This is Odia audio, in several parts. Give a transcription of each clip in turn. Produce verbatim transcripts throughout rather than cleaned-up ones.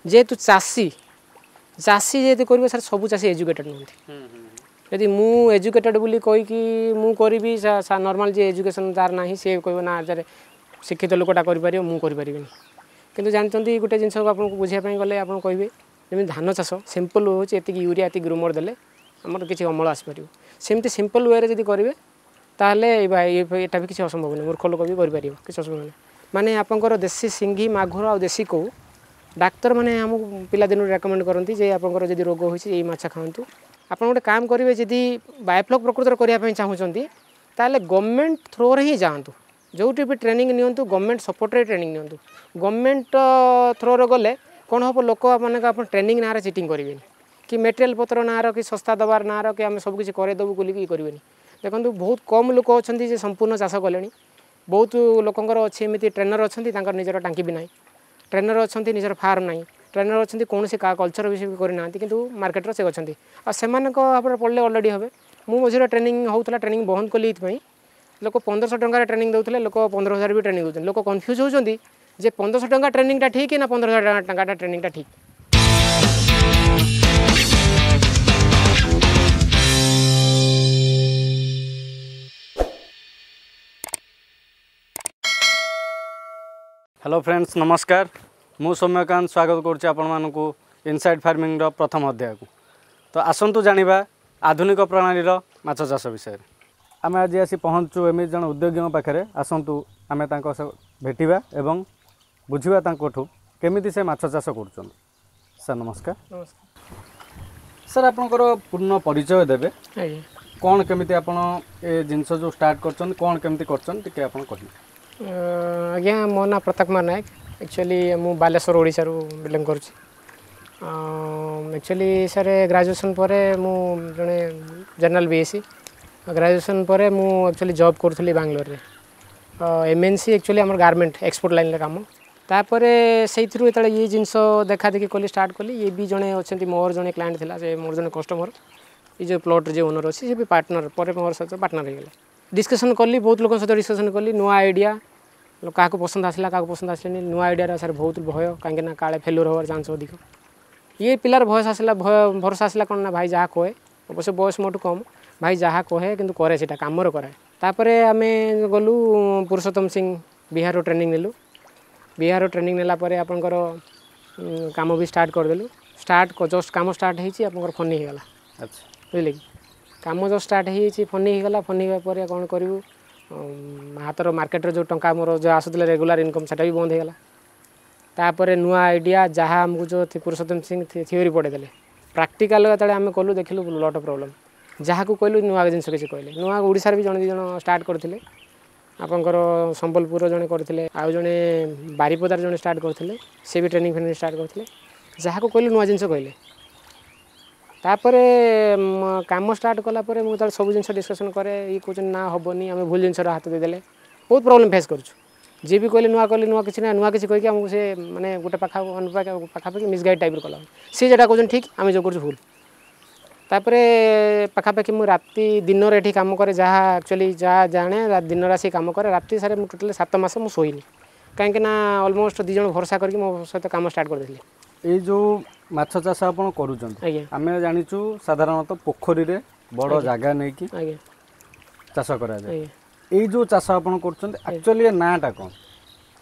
ଯେହେତୁ ଚାଷୀ ଚାଷୀ ଯେହେତୁ କରିବ ସାର୍ ସବୁ ଚାଷୀ ଏଜୁକେଟେଡ଼ ନୁହନ୍ତି ଯଦି ମୁଁ ଏଜୁକେଟେଡ଼ ବୋଲି କହିକି ମୁଁ କରିବି ନର୍ମାଲ୍ ଯିଏ ଏଜୁକେସନ୍ ତାର ନାହିଁ ସିଏ କହିବ ନା ଆରେ ଶିକ୍ଷିତ ଲୋକଟା କରିପାରିବ ମୁଁ କରିପାରିବିନି କିନ୍ତୁ ଜାଣିଛନ୍ତି ଗୋଟେ ଜିନିଷକୁ ଆପଣଙ୍କୁ ବୁଝିବା ପାଇଁ ଗଲେ ଆପଣ କହିବେ ଯେମିତି ଧାନ ଚାଷ ସିମ୍ପଲ୍ ହେଉଛି ଏତିକି ୟୁରିଆ ଏତିକି ଗ୍ରୁମର ଦେଲେ ଆମର କିଛି ଅମଳ ଆସିପାରିବ ସେମିତି ସିମ୍ପଲ୍ ୱେରେ ଯଦି କରିବେ ତାହେଲେ ଏଇଟା ବି କିଛି ଅସମ୍ଭବ ନୁହେଁ ମୂର୍ଖ ଲୋକ ବି କରିପାରିବ କିଛି ଅସୁବିଧା ନାହିଁ ମାନେ ଆପଣଙ୍କର ଦେଶୀ ସିଙ୍ଗି ମାଗୁର ଆଉ ଦେଶୀ କଉ ଡାକ୍ତରମାନେ ଆମକୁ ପିଲାଦିନରୁ ରେକମେଣ୍ଡ କରନ୍ତି ଯେ ଆପଣଙ୍କର ଯଦି ରୋଗ ହୋଇଛି ଏଇ ମାଛ ଖାଆନ୍ତୁ ଆପଣ ଗୋଟେ କାମ କରିବେ ଯଦି ବାୟୋଫ୍ଲକ୍ ପ୍ରକୃତରେ କରିବା ପାଇଁ ଚାହୁଁଛନ୍ତି ତାହେଲେ ଗଭର୍ଣ୍ଣମେଣ୍ଟ ଥ୍ରୋରେ ହିଁ ଯାଆନ୍ତୁ ଯେଉଁଠି ବି ଟ୍ରେନିଂ ନିଅନ୍ତୁ ଗଭର୍ଣ୍ଣମେଣ୍ଟ ସପୋର୍ଟରେ ଟ୍ରେନିଂ ନିଅନ୍ତୁ ଗଭର୍ଣ୍ଣମେଣ୍ଟ ଥ୍ରୋରେ ଗଲେ କ'ଣ ହେବ ଲୋକ ମାନଙ୍କ ଆପଣ ଟ୍ରେନିଂ ନାଁରେ ଚିଟିଂ କରିବେନି କି ମେଟେରିଆଲ୍ ପତ୍ର ନାଁର କି ଶସ୍ତା ଦେବାର ନାଁର କି ଆମେ ସବୁ କିଛି କରେଇଦେବୁ ବୋଲିକି ଇଏ କରିବେନି ଦେଖନ୍ତୁ ବହୁତ କମ୍ ଲୋକ ଅଛନ୍ତି ଯେ ସମ୍ପୂର୍ଣ୍ଣ ଚାଷ କଲେଣି ବହୁତ ଲୋକଙ୍କର ଅଛି ଏମିତି ଟ୍ରେନର୍ ଅଛନ୍ତି ତାଙ୍କର ନିଜର ଟାଙ୍କି ବି ନାହିଁ ଟ୍ରେନର୍ ଅଛନ୍ତି ନିଜର ଫାର୍ମ ନାହିଁ ଟ୍ରେନର୍ ଅଛନ୍ତି କୌଣସି କଲଚର ବିଷୟ ବି କରିନାହାନ୍ତି କିନ୍ତୁ ମାର୍କେଟରେ ସେ ଅଛନ୍ତି ଆଉ ସେମାନଙ୍କ ଭାବରେ ପଡ଼ିଲେ ଅଲରେଡ଼ି ହେବେ ମୁଁ ମଝିରେ ଟ୍ରେନିଂ ହେଉଥିଲା ଟ୍ରେନିଂ ବନ୍ଦ କଲି ଏଇଥିପାଇଁ ଲୋକ ପନ୍ଦରଶହ ଟଙ୍କାରେ ଟ୍ରେନିଂ ଦେଉଥିଲେ ଲୋକ ପନ୍ଦର ହଜାର ବି ଟ୍ରେନିଂ ଦେଉଛନ୍ତି ଲୋକ କନଫ୍ୟୁଜ୍ ହେଉଛନ୍ତି ଯେ ପନ୍ଦରଶହ ଟଙ୍କା ଟ୍ରେନିଂଟା ଠିକ୍ ନା ପନ୍ଦର ହଜାର ଟଙ୍କାଟା ଟ୍ରେନିଂଟା ଠିକ୍ ହ୍ୟାଲୋ ଫ୍ରେଣ୍ଡସ୍ ନମସ୍କାର ମୁଁ ସୌମ୍ୟକାନ୍ତ ସ୍ୱାଗତ କରୁଛି ଆପଣମାନଙ୍କୁ ଇନସାଇଡ୍ ଫାର୍ମିଂର ପ୍ରଥମ ଅଧ୍ୟାୟକୁ ତ ଆସନ୍ତୁ ଜାଣିବା ଆଧୁନିକ ପ୍ରଣାଳୀର ମାଛ ଚାଷ ବିଷୟରେ ଆମେ ଆଜି ଆସି ପହଞ୍ଚୁ ଏମିତି ଜଣେ ଉଦ୍ୟୋଗୀଙ୍କ ପାଖରେ ଆସନ୍ତୁ ଆମେ ତାଙ୍କ ସହ ଭେଟିବା ଏବଂ ବୁଝିବା ତାଙ୍କଠୁ କେମିତି ସେ ମାଛ ଚାଷ କରୁଛନ୍ତି ସାର୍ ନମସ୍କାର ନମସ୍କାର ସାର୍ ଆପଣଙ୍କର ପୂର୍ଣ୍ଣ ପରିଚୟ ଦେବେ ଆଜ୍ଞା କ'ଣ କେମିତି ଆପଣ ଏ ଜିନିଷ ଯେଉଁ ଷ୍ଟାର୍ଟ କରିଛନ୍ତି କ'ଣ କେମିତି କରିଛନ୍ତି ଟିକେ ଆପଣ କହିବେ ଆଜ୍ଞା ମୋ ନାଁ ପ୍ରତାପ କୁମାର ନାୟକ ଆକ୍ଚୁଆଲି ମୁଁ ବାଲେଶ୍ୱର ଓଡ଼ିଶାରୁ ବିଲଙ୍ଗ କରୁଛି ଆକ୍ଚୁଆଲି ସାର୍ ଗ୍ରାଜୁଏସନ୍ ପରେ ମୁଁ ଜଣେ general B S C graduation ପରେ ମୁଁ ଆକ୍ଚୁଆଲି ଜବ୍ କରୁଥିଲି ବାଙ୍ଗଲୋରରେ ଏମ୍ ଏନ୍ ସି ଆକ୍ଚୁଆଲି ଆମର ଗାର୍ମେଣ୍ଟ ଏକ୍ସପୋର୍ଟ ଲାଇନ୍ରେ କାମ ତାପରେ ସେଇଥିରୁ ଯେତେବେଳେ ଇଏ ଜିନିଷ ଦେଖାଦେଖି କଲି ଷ୍ଟାର୍ଟ କଲି ଇଏ ବି ଜଣେ ଅଛନ୍ତି ମୋର ଜଣେ କ୍ଲାଏଣ୍ଟ ଥିଲା ସେ ମୋର ଜଣେ କଷ୍ଟମର ଏ ଯେଉଁ ପ୍ଲଟ୍ର ଯିଏ ଓନର୍ ଅଛି ସେ ବି ପାର୍ଟନର ପରେ ମୋର ସହିତ ପାର୍ଟନର ହେଇଗଲେ ଡିସ୍କସନ୍ କଲି ବହୁତ ଲୋକଙ୍କ ସହିତ ଡିସ୍କସନ୍ କଲି ନୂଆ ଆଇଡ଼ିଆ କାହାକୁ ପସନ୍ଦ ଆସିଲା କାହାକୁ ପସନ୍ଦ ଆସିଲାନି ନୂଆ ଆଇଡ଼ିଆର ସାର୍ ବହୁତ ଭୟ କାହିଁକିନା କାଳେ ଫେଲୁଅର୍ ହେବାର ଚାନ୍ସ ଅଧିକ ଇଏ ପିଲାର ଭୟସ ଆସିଲା ଭୟ ଭରସା ଆସିଲା କ'ଣ ନା ଭାଇ ଯାହା କହେ ଅବଶ୍ୟ ବୟସ ମୋଠୁ କମ୍ ଭାଇ ଯାହା କହେ କିନ୍ତୁ କରେ ସେଇଟା କାମରେ କରାଏ ତାପରେ ଆମେ ଗଲୁ ପୁରୁଷୋତ୍ତମ ସିଂ ବିହାରରୁ ଟ୍ରେନିଂ ନେଲୁ ବିହାରରୁ ଟ୍ରେନିଂ ନେଲା ପରେ ଆପଣଙ୍କର କାମ ବି ଷ୍ଟାର୍ଟ କରିଦେଲୁ ଷ୍ଟାର୍ଟ ଜଷ୍ଟ କାମ ଷ୍ଟାର୍ଟ ହେଇଛି ଆପଣଙ୍କର ଫନି ହେଇଗଲା ଆଚ୍ଛା ବୁଝିଲେ କି କାମ ଜଷ୍ଟ ଷ୍ଟାର୍ଟ ହେଇଯାଇଛି ଫନି ହେଇଗଲା ଫନି ହେବା ପରେ କ'ଣ କରିବୁ ହାତର ମାର୍କେଟରେ ଯେଉଁ ଟଙ୍କା ମୋର ଯେଉଁ ଆସୁଥିଲା ରେଗୁଲାର ଇନକମ୍ ସେଟା ବି ବନ୍ଦ ହେଇଗଲା ତାପରେ ନୂଆ ଆଇଡ଼ିଆ ଯାହା ଆମକୁ ଯେଉଁ ପୁରୁଷୋତ୍ତମ ସିଂ ଥିଓରି ପଢ଼େଇଦେଲେ ପ୍ରାକ୍ଟିକାଲ ଯେତେବେଳେ ଆମେ କଲୁ ଦେଖିଲୁ ଲଟ୍ ଅଫ୍ ପ୍ରୋବ୍ଲେମ୍ ଯାହାକୁ କହିଲୁ ନୂଆ ଜିନିଷ କିଛି କହିଲେ ନୂଆ ଓଡ଼ିଶାରେ ବି ଜଣେ ଦୁଇ ଜଣ ଷ୍ଟାର୍ଟ କରିଥିଲେ ଆପଣଙ୍କର ସମ୍ବଲପୁରର ଜଣେ କରିଥିଲେ ଆଉ ଜଣେ ବାରିପଦାର ଜଣେ ଷ୍ଟାର୍ଟ କରିଥିଲେ ସେ ବି ଟ୍ରେନିଂ ଫ୍ରେନିଂ ଷ୍ଟାର୍ଟ କରିଥିଲେ ଯାହାକୁ କହିଲୁ ନୂଆ ଜିନିଷ କହିଲେ ତାପରେ କାମ ଷ୍ଟାର୍ଟ କଲା ପରେ ମୁଁ ଯେତେବେଳେ ସବୁ ଜିନିଷ ଡିସ୍କସନ୍ କରେ ଇଏ କହୁଛନ୍ତି ନା ହେବନି ଆମେ ଭୁଲ ଜିନିଷର ହାତ ଦେଇଦେଲେ ବହୁତ ପ୍ରୋବ୍ଲେମ୍ ଫେସ୍ କରୁଛୁ ଯିଏ ବି କହିଲେ ନୂଆ କଲେ ନୂଆ କିଛି ନା ନୂଆ କିଛି କହିକି ଆମକୁ ସେ ମାନେ ଗୋଟେ ପାଖା ପାଖାପାଖି ମିସଗାଇଡ଼ ଟାଇପ୍ର କଲା ସିଏ ଯେଉଁଟା କହୁଛନ୍ତି ଠିକ୍ ଆମେ ଯେଉଁ କରୁଛୁ ଭୁଲ ତାପରେ ପାଖାପାଖି ମୁଁ ରାତି ଦିନରେ ଏଠି କାମ କରେ ଯାହା ଆକ୍ଚୁଆଲି ଯାହା ଜାଣେ ଦିନରେ ଆସିକି କାମ କରେ ରାତି ସାରା ମୁଁ ଟୋଟାଲି ସାତ ମାସ ମୁଁ ଶୋଇନି କାହିଁକି ନା ଅଲମୋଷ୍ଟ ଦୁଇ ଜଣ ଭରସା କରିକି ମୋ ସହିତ କାମ ଷ୍ଟାର୍ଟ କରିଦେଇଥିଲେ ଏଇ ଯେଉଁ ମାଛ ଚାଷ ଆପଣ କରୁଛନ୍ତି ଆଜ୍ଞା ଆମେ ଜାଣିଛୁ ସାଧାରଣତଃ ପୋଖରୀରେ ବଡ଼ ଜାଗା ନେଇକି ଆଜ୍ଞା ଚାଷ କରାଯାଏ ଆଜ୍ଞା ଏଇ ଯେଉଁ ଚାଷ ଆପଣ କରୁଛନ୍ତି ଆକ୍ଚୁଆଲି ଏ ନାଁଟା କ'ଣ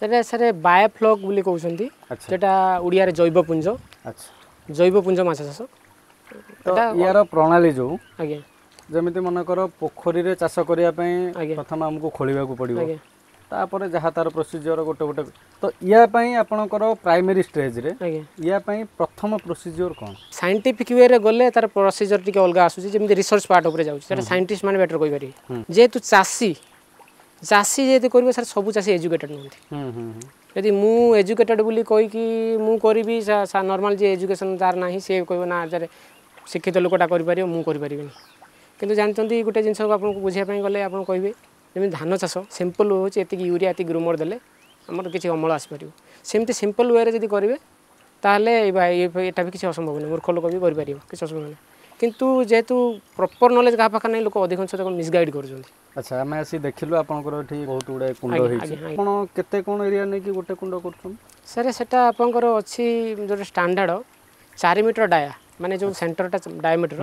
ସେଟା ସାର୍ ବାୟୋଫ୍ଲକ୍ ବୋଲି କହୁଛନ୍ତି ଆଚ୍ଛା ସେଟା ଓଡ଼ିଆରେ ଜୈବପୁଞ୍ଜ ଆଚ୍ଛା ଜୈବପୁଞ୍ଜ ମାଛ ଚାଷ ତ ୟାର ପ୍ରଣାଳୀ ଯେଉଁ ଆଜ୍ଞା ଯେମିତି ମନେକର ପୋଖରୀରେ ଚାଷ କରିବା ପାଇଁ ଆଜ୍ଞା। ପ୍ରଥମେ ଆମକୁ ଖୋଳିବାକୁ ପଡ଼ିବ ଆଜ୍ଞା ତାପରେ ଯାହା ତାର ପ୍ରୋସିଜିଅର ଗୋଟେ ଗୋଟେ ତ ୟା ପାଇଁ ଆପଣଙ୍କର ପ୍ରାଇମେରୀ ଷ୍ଟେଜରେ ଆଜ୍ଞା ୟା ପାଇଁ ପ୍ରଥମ ପ୍ରୋସିଜିଅର କ'ଣ ସାଇଣ୍ଟିଫିକ୍ ୱେରେ ଗଲେ ତାର ପ୍ରୋସିଜର ଟିକେ ଅଲଗା ଆସୁଛି ଯେମିତି ରିସର୍ଚ୍ଚ ପାର୍ଟ ଉପରେ ଯାଉଛି ସେଟା ସାଇଣ୍ଟିଷ୍ଟ ମାନେ ବେଟର କହିପାରିବେ ଯେହେତୁ ଚାଷୀ ଚାଷୀ ଯେହେତୁ କରିବ ସାର୍ ସବୁ ଚାଷୀ ଏଜୁକେଟେଡ଼ ନୁହନ୍ତି ହୁଁ ହୁଁ ହୁଁ ଯଦି ମୁଁ ଏଜୁକେଟେଡ଼ ବୋଲି କହିକି ମୁଁ କରିବି ନର୍ମାଲ୍ ଯିଏ ଏଜୁକେସନ୍ ତାର ନାହିଁ ସିଏ କହିବ ନା ଆରେ ଶିକ୍ଷିତ ଲୋକଟା କରିପାରିବ ମୁଁ କରିପାରିବିନି କିନ୍ତୁ ଜାଣିଛନ୍ତି ଗୋଟେ ଜିନିଷକୁ ଆପଣଙ୍କୁ ବୁଝିବା ପାଇଁ ଗଲେ ଆପଣ କହିବେ ଯେମିତି ଧାନ ଚାଷ ସିମ୍ପଲ୍ ହେଉଛି ଏତିକି ୟୁରିଆ ଏତିକି ଗ୍ରୁମର ଦେଲେ ଆମର କିଛି ଅମଳ ଆସିପାରିବ ସେମିତି ସିମ୍ପଲ୍ ୱେରେ ଯଦି କରିବେ ତାହେଲେ ଏଇଟା ବି କିଛି ଅସମ୍ଭବ ନୁହେଁ ମୂର୍ଖ ଲୋକ ବି କରିପାରିବ କିଛି ଅସୁବିଧା ନାହିଁ କିନ୍ତୁ ଯେହେତୁ ପ୍ରପର ନଲେଜ କାହା ପାଖରେ ନାହିଁ, ଲୋକ ଅଧିକାଂଶ ତାକୁ ମିସଗାଇଡ଼ କରୁଛନ୍ତି। ଆଚ୍ଛା, ଆମେ ଆସି ଦେଖିଲୁ ଆପଣଙ୍କର ଏଠି ବହୁତ ଗୁଡ଼ାଏ କୁଣ୍ଡ ହେଇଛି। ଆପଣ କେତେ କ'ଣ ଏରିଆ ନେଇକି ଗୋଟେ କୁଣ୍ଡ କରୁଛନ୍ତି? ସାର୍, ସେଟା ଆପଣଙ୍କର ଅଛି ଯେଉଁଟା ଷ୍ଟାଣ୍ଡାର୍ଡ଼ ଚାରି ମିଟର ଡାୟା, ମାନେ ଯେଉଁ ସେଣ୍ଟରଟା ଡାଇମିଟର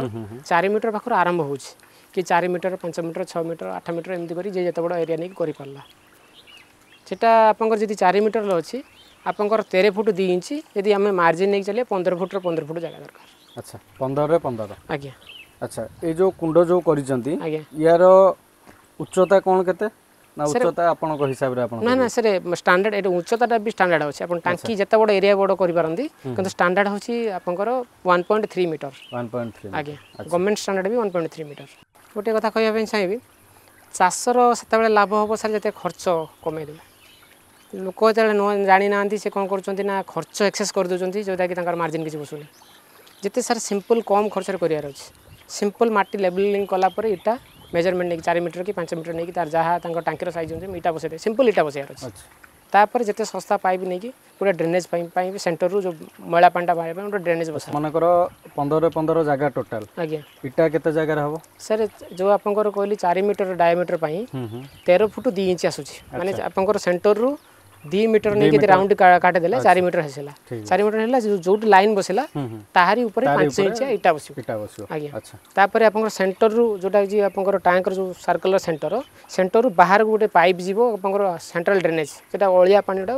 ଚାରି ମିଟର ପାଖରୁ ଆରମ୍ଭ ହେଉଛି କି ଚାରି ମିଟର, ପାଞ୍ଚ ମିଟର, ଛଅ ମିଟର, ଆଠ ମିଟର, ଏମିତି କରି ଯିଏ ଯେତେ ବଡ଼ ଏରିଆ ନେଇକି କରିପାରିଲା। ସେଟା ଆପଣଙ୍କର ଯଦି ଚାରି ମିଟର ଅଛି, ଆପଣଙ୍କର ତେର ଫୁଟ ଦୁଇ ଇଞ୍ଚ, ଯଦି ଆମେ ମାର୍ଜିନ୍ ନେଇକି ଚାଲିବା ପନ୍ଦର ଫୁଟର ପନ୍ଦର ଫୁଟ ଜାଗା ଦରକାର। ଆଚ୍ଛା, ପନ୍ଦରରେ ପନ୍ଦର। ଆଜ୍ଞା। ଆଚ୍ଛା, ଏଇ ଯେଉଁ କୁଣ୍ଡ ଯେଉଁ କରିଛନ୍ତି, ଆଜ୍ଞା, ୟାର ଉଚ୍ଚତା କ'ଣ କେତେ ନା ଉଚ୍ଚତା ଆପଣଙ୍କ ହିସାବରେ ଆପଣ? ନା ନା ସାର୍, ଷ୍ଟାଣ୍ଡାର୍ଡ଼ ଏଇଟା ଉଚ୍ଚତାଟା ବି ଷ୍ଟାଣ୍ଡାର୍ଡ଼ ଅଛି। ଆପଣ ଟାଙ୍କି ଯେତେ ବଡ଼ ଏରିଆ ବଡ଼ କରିପାରନ୍ତି, କିନ୍ତୁ ଷ୍ଟାଣ୍ଡାର୍ଡ଼ ହେଉଛି ଆପଣଙ୍କର one point three metre. One point three. ଆଜ୍ଞା, ଗଭର୍ଣ୍ଣମେଣ୍ଟ ଷ୍ଟାଣ୍ଡାର୍ଡ଼ ବି ୱାନ୍ ପଏଣ୍ଟ ଥ୍ରୀ ମିଟର। ଗୋଟିଏ କଥା କହିବା ପାଇଁ ଚାହିଁବି, ଚାଷର ସେତେବେଳେ ଲାଭ ହେବ ସାର୍ ଯେତେ ଖର୍ଚ୍ଚ କମେଇଦେବେ। ଲୋକ ଯେତେବେଳେ ନ ଜାଣିନାହାନ୍ତି, ସେ କ'ଣ କରୁଛନ୍ତି ନା ଖର୍ଚ୍ଚ ଏକ୍ସେସ୍ କରିଦେଉଛନ୍ତି, ଯେଉଁଟାକି ତାଙ୍କର ମାର୍ଜିନ୍ କିଛି ବସୁନି। ଯେତେ ସାର୍ ସିମ୍ପଲ୍ କମ୍ ଖର୍ଚ୍ଚରେ କରିବାର ଅଛି, ସିମ୍ପଲ୍ ମାଟି ଲେବଲିଂ କଲା ପରେ ଇଟା ମେଜରମେଣ୍ଟ ନେଇକି ଚାରି ମିଟର କି ପାଞ୍ଚ ମିଟର ନେଇକି ତାର ଯାହା ତାଙ୍କ ଟାଙ୍କିର ସାଇଜ୍ ଅନୁଯାୟୀ ଇଟା ବସେଇଦେବେ, ସିମ୍ପଲ୍ ଇଟା ବସେଇବାର ଅଛି। ତାପରେ ଯେତେ ଶସ୍ତା ପାଇପ୍ ନେଇକି ଗୋଟେ ଡ୍ରେନେଜ୍ ପାଇଁ ପାଇଁ ସେଣ୍ଟରରୁ ଯେଉଁ ମଇଳା ପାଣିଟା ବାହାରିବା ପାଇଁ ଗୋଟେ ଡ୍ରେନେଜ୍ ବସା। ମନେକର ପନ୍ଦର ପନ୍ଦର ଜାଗା ଟୋଟାଲ। ଆଜ୍ଞା। ଇଟା କେତେ ଜାଗାରେ ହେବ? ସାର୍, ଯେଉଁ ଆପଣଙ୍କର କହିଲି ଚାରି ମିଟର ଡାଇମିଟର ପାଇଁ ତେର ଫୁଟ ଦୁଇ ଇଞ୍ଚ ଆସୁଛି, ମାନେ ଆପଣଙ୍କର ସେଣ୍ଟରରୁ ଦୁଇ ମିଟର ନେଇକି ଯଦି ରାଉଣ୍ଡ କାଟିଦେଲେ ଚାରି ମିଟର ହେଇଥିଲା, ଚାରି ମିଟର ହେଲା, ଯୋଉଠି ଲାଇନ୍ ବସିଲା ତାହାରି ଉପରେ ପାଞ୍ଚ ଇଞ୍ଚ ଇଟା ବସିବ। ଇଟା ବସିବ। ଆଜ୍ଞା। ତାପରେ ଆପଣଙ୍କର ସେଣ୍ଟରରୁ ଯେଉଁଟା କି ଆପଣଙ୍କର ଟ୍ୟାଙ୍କର ଯେଉଁ ସାର୍କଲର ସେଣ୍ଟର, ସେଣ୍ଟରରୁ ବାହାରକୁ ଗୋଟେ ପାଇପ୍ ଯିବ ଆପଣଙ୍କର ସେଣ୍ଟ୍ରାଲ ଡ୍ରେନେଜ୍, ସେଟା ଅଳିଆ ପାଣିଟା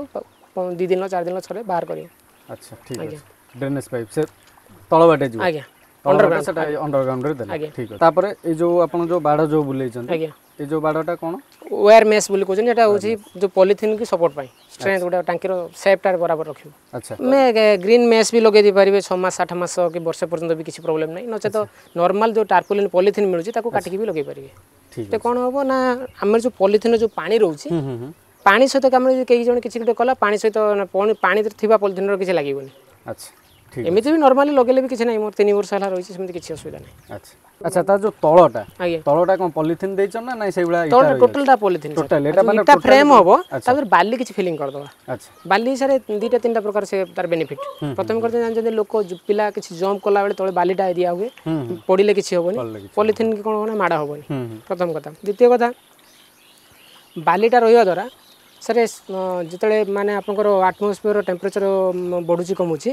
ଦୁଇ ଦିନ ଚାରି ଦିନ ଥରେ ବାହାର କରିବ। ଆଚ୍ଛା, ଠିକ୍ ଅଛି। ଡ୍ରେନେଜ୍ ପାଇପ୍ ସେ ତଳ ବାଟେ ଯିବ? ଆଜ୍ଞା, ଅଣ୍ଡରଗ୍ରାଉଣ୍ଡ, ସେଟା ଅଣ୍ଡରଗ୍ରାଉଣ୍ଡରେ ଦେଲେ। ଠିକ୍ ଅଛି। ତାପରେ ଏଇ ଯେଉଁ ଆପଣ ଯେଉଁ ବାଡ଼ ଯେଉଁ ବୁଲେଇଛନ୍ତି? ଆଜ୍ଞା। ଏଇ ଯେଉଁ ବାଡ଼ଟା କ'ଣ? ୱେୟାର ମେସ୍ ବୋଲି କହୁଛନ୍ତି। ଏଟା ହେଉଛି ଯେଉଁ ପଲିଥିନ୍ କି ସପୋର୍ଟ ପାଇଁ ଷ୍ଟ୍ରେନ୍ଥ, ଗୋଟେ ଟାଙ୍କିର ସେପ୍ଟା ବରାବର ରଖିବ। ଆଚ୍ଛା। ଆମେ ଗ୍ରୀନ୍ ମେସ୍ ବି ଲଗେଇ ଦେଇପାରିବେ, ଛଅ ମାସ ଆଠ ମାସ କି ବର୍ଷେ ପର୍ଯ୍ୟନ୍ତ ବି କିଛି ପ୍ରୋବ୍ଲେମ୍ ନାହିଁ। ନଚେତ ନର୍ମାଲ ଯେଉଁ ଟାର୍ପୋଲିନ୍ ପଲିଥିନ୍ ମିଳୁଛି ତାକୁ କାଟିକି ବି ଲଗେଇ ପାରିବେ। ଠିକ୍। ତ କ'ଣ ହେବ ନା ଆମର ଯେଉଁ ପଲିଥିନ୍ର ଯେଉଁ ପାଣି ରହୁଛି, ପାଣି ସହିତ ଆମର ଯଦି କେହି ଜଣେ କିଛି ଗୋଟେ କଲା, ପାଣି ସହିତ ପାଣି ଥିବା ପଲିଥିନ୍ର କିଛି ଲାଗିବନି। ଆଚ୍ଛା, ଠିକ୍। ଏମିତି ବି ନର୍ମାଲି ଲଗେଇଲେ ବି କିଛି ନାହିଁ, ମୋର ତିନି ବର୍ଷ ହେଲା ରହିଛି, ସେମିତି କିଛି ଅସୁବିଧା ନାହିଁ। ଆଚ୍ଛା ଆଚ୍ଛା, ତାର ଯେଉଁ ତଳଟା? ଆଜ୍ଞା। ତଳଟା କ'ଣ ପଲିଥିନ୍ ଦେଇଛ ନା ନାଇଁ ସେଇଭଳିଆ? ତଳଟା ଟୋଟାଲଟା ପଲିଥିନ୍। ଟୋଟାଲ ଏଇଟା ମାନେ ଇଟା ଫ୍ରେମ୍ ହେବ, ତାପରେ ବାଲି କିଛି ଫିଲିଂ କରିଦେବା। ଆଚ୍ଛା। ବାଲି ସାର୍ ଦୁଇଟା ତିନିଟା ପ୍ରକାର ସେ ତାର ବେନିଫିଟ୍। ପ୍ରଥମେ କଥା ଜାଣିଛନ୍ତି ଲୋକ ପିଲା କିଛି ଜମ୍ପ କଲାବେଳେ ତଳେ ବାଲିଟା ଦିଆ ହୁଏ, ପଡ଼ିଲେ କିଛି ହେବନି, ପଲିଥିନ୍ କ'ଣ ନା ମାଡ଼ ହେବନି, ପ୍ରଥମ କଥା। ଦ୍ୱିତୀୟ କଥା, ବାଲିଟା ରହିବା ଦ୍ୱାରା ସାର୍ ଯେତେବେଳେ ମାନେ ଆପଣଙ୍କର ଆଟମୋସ୍ଫିୟର ଟେମ୍ପରେଚର ବଢ଼ୁଛି କମୁଛି,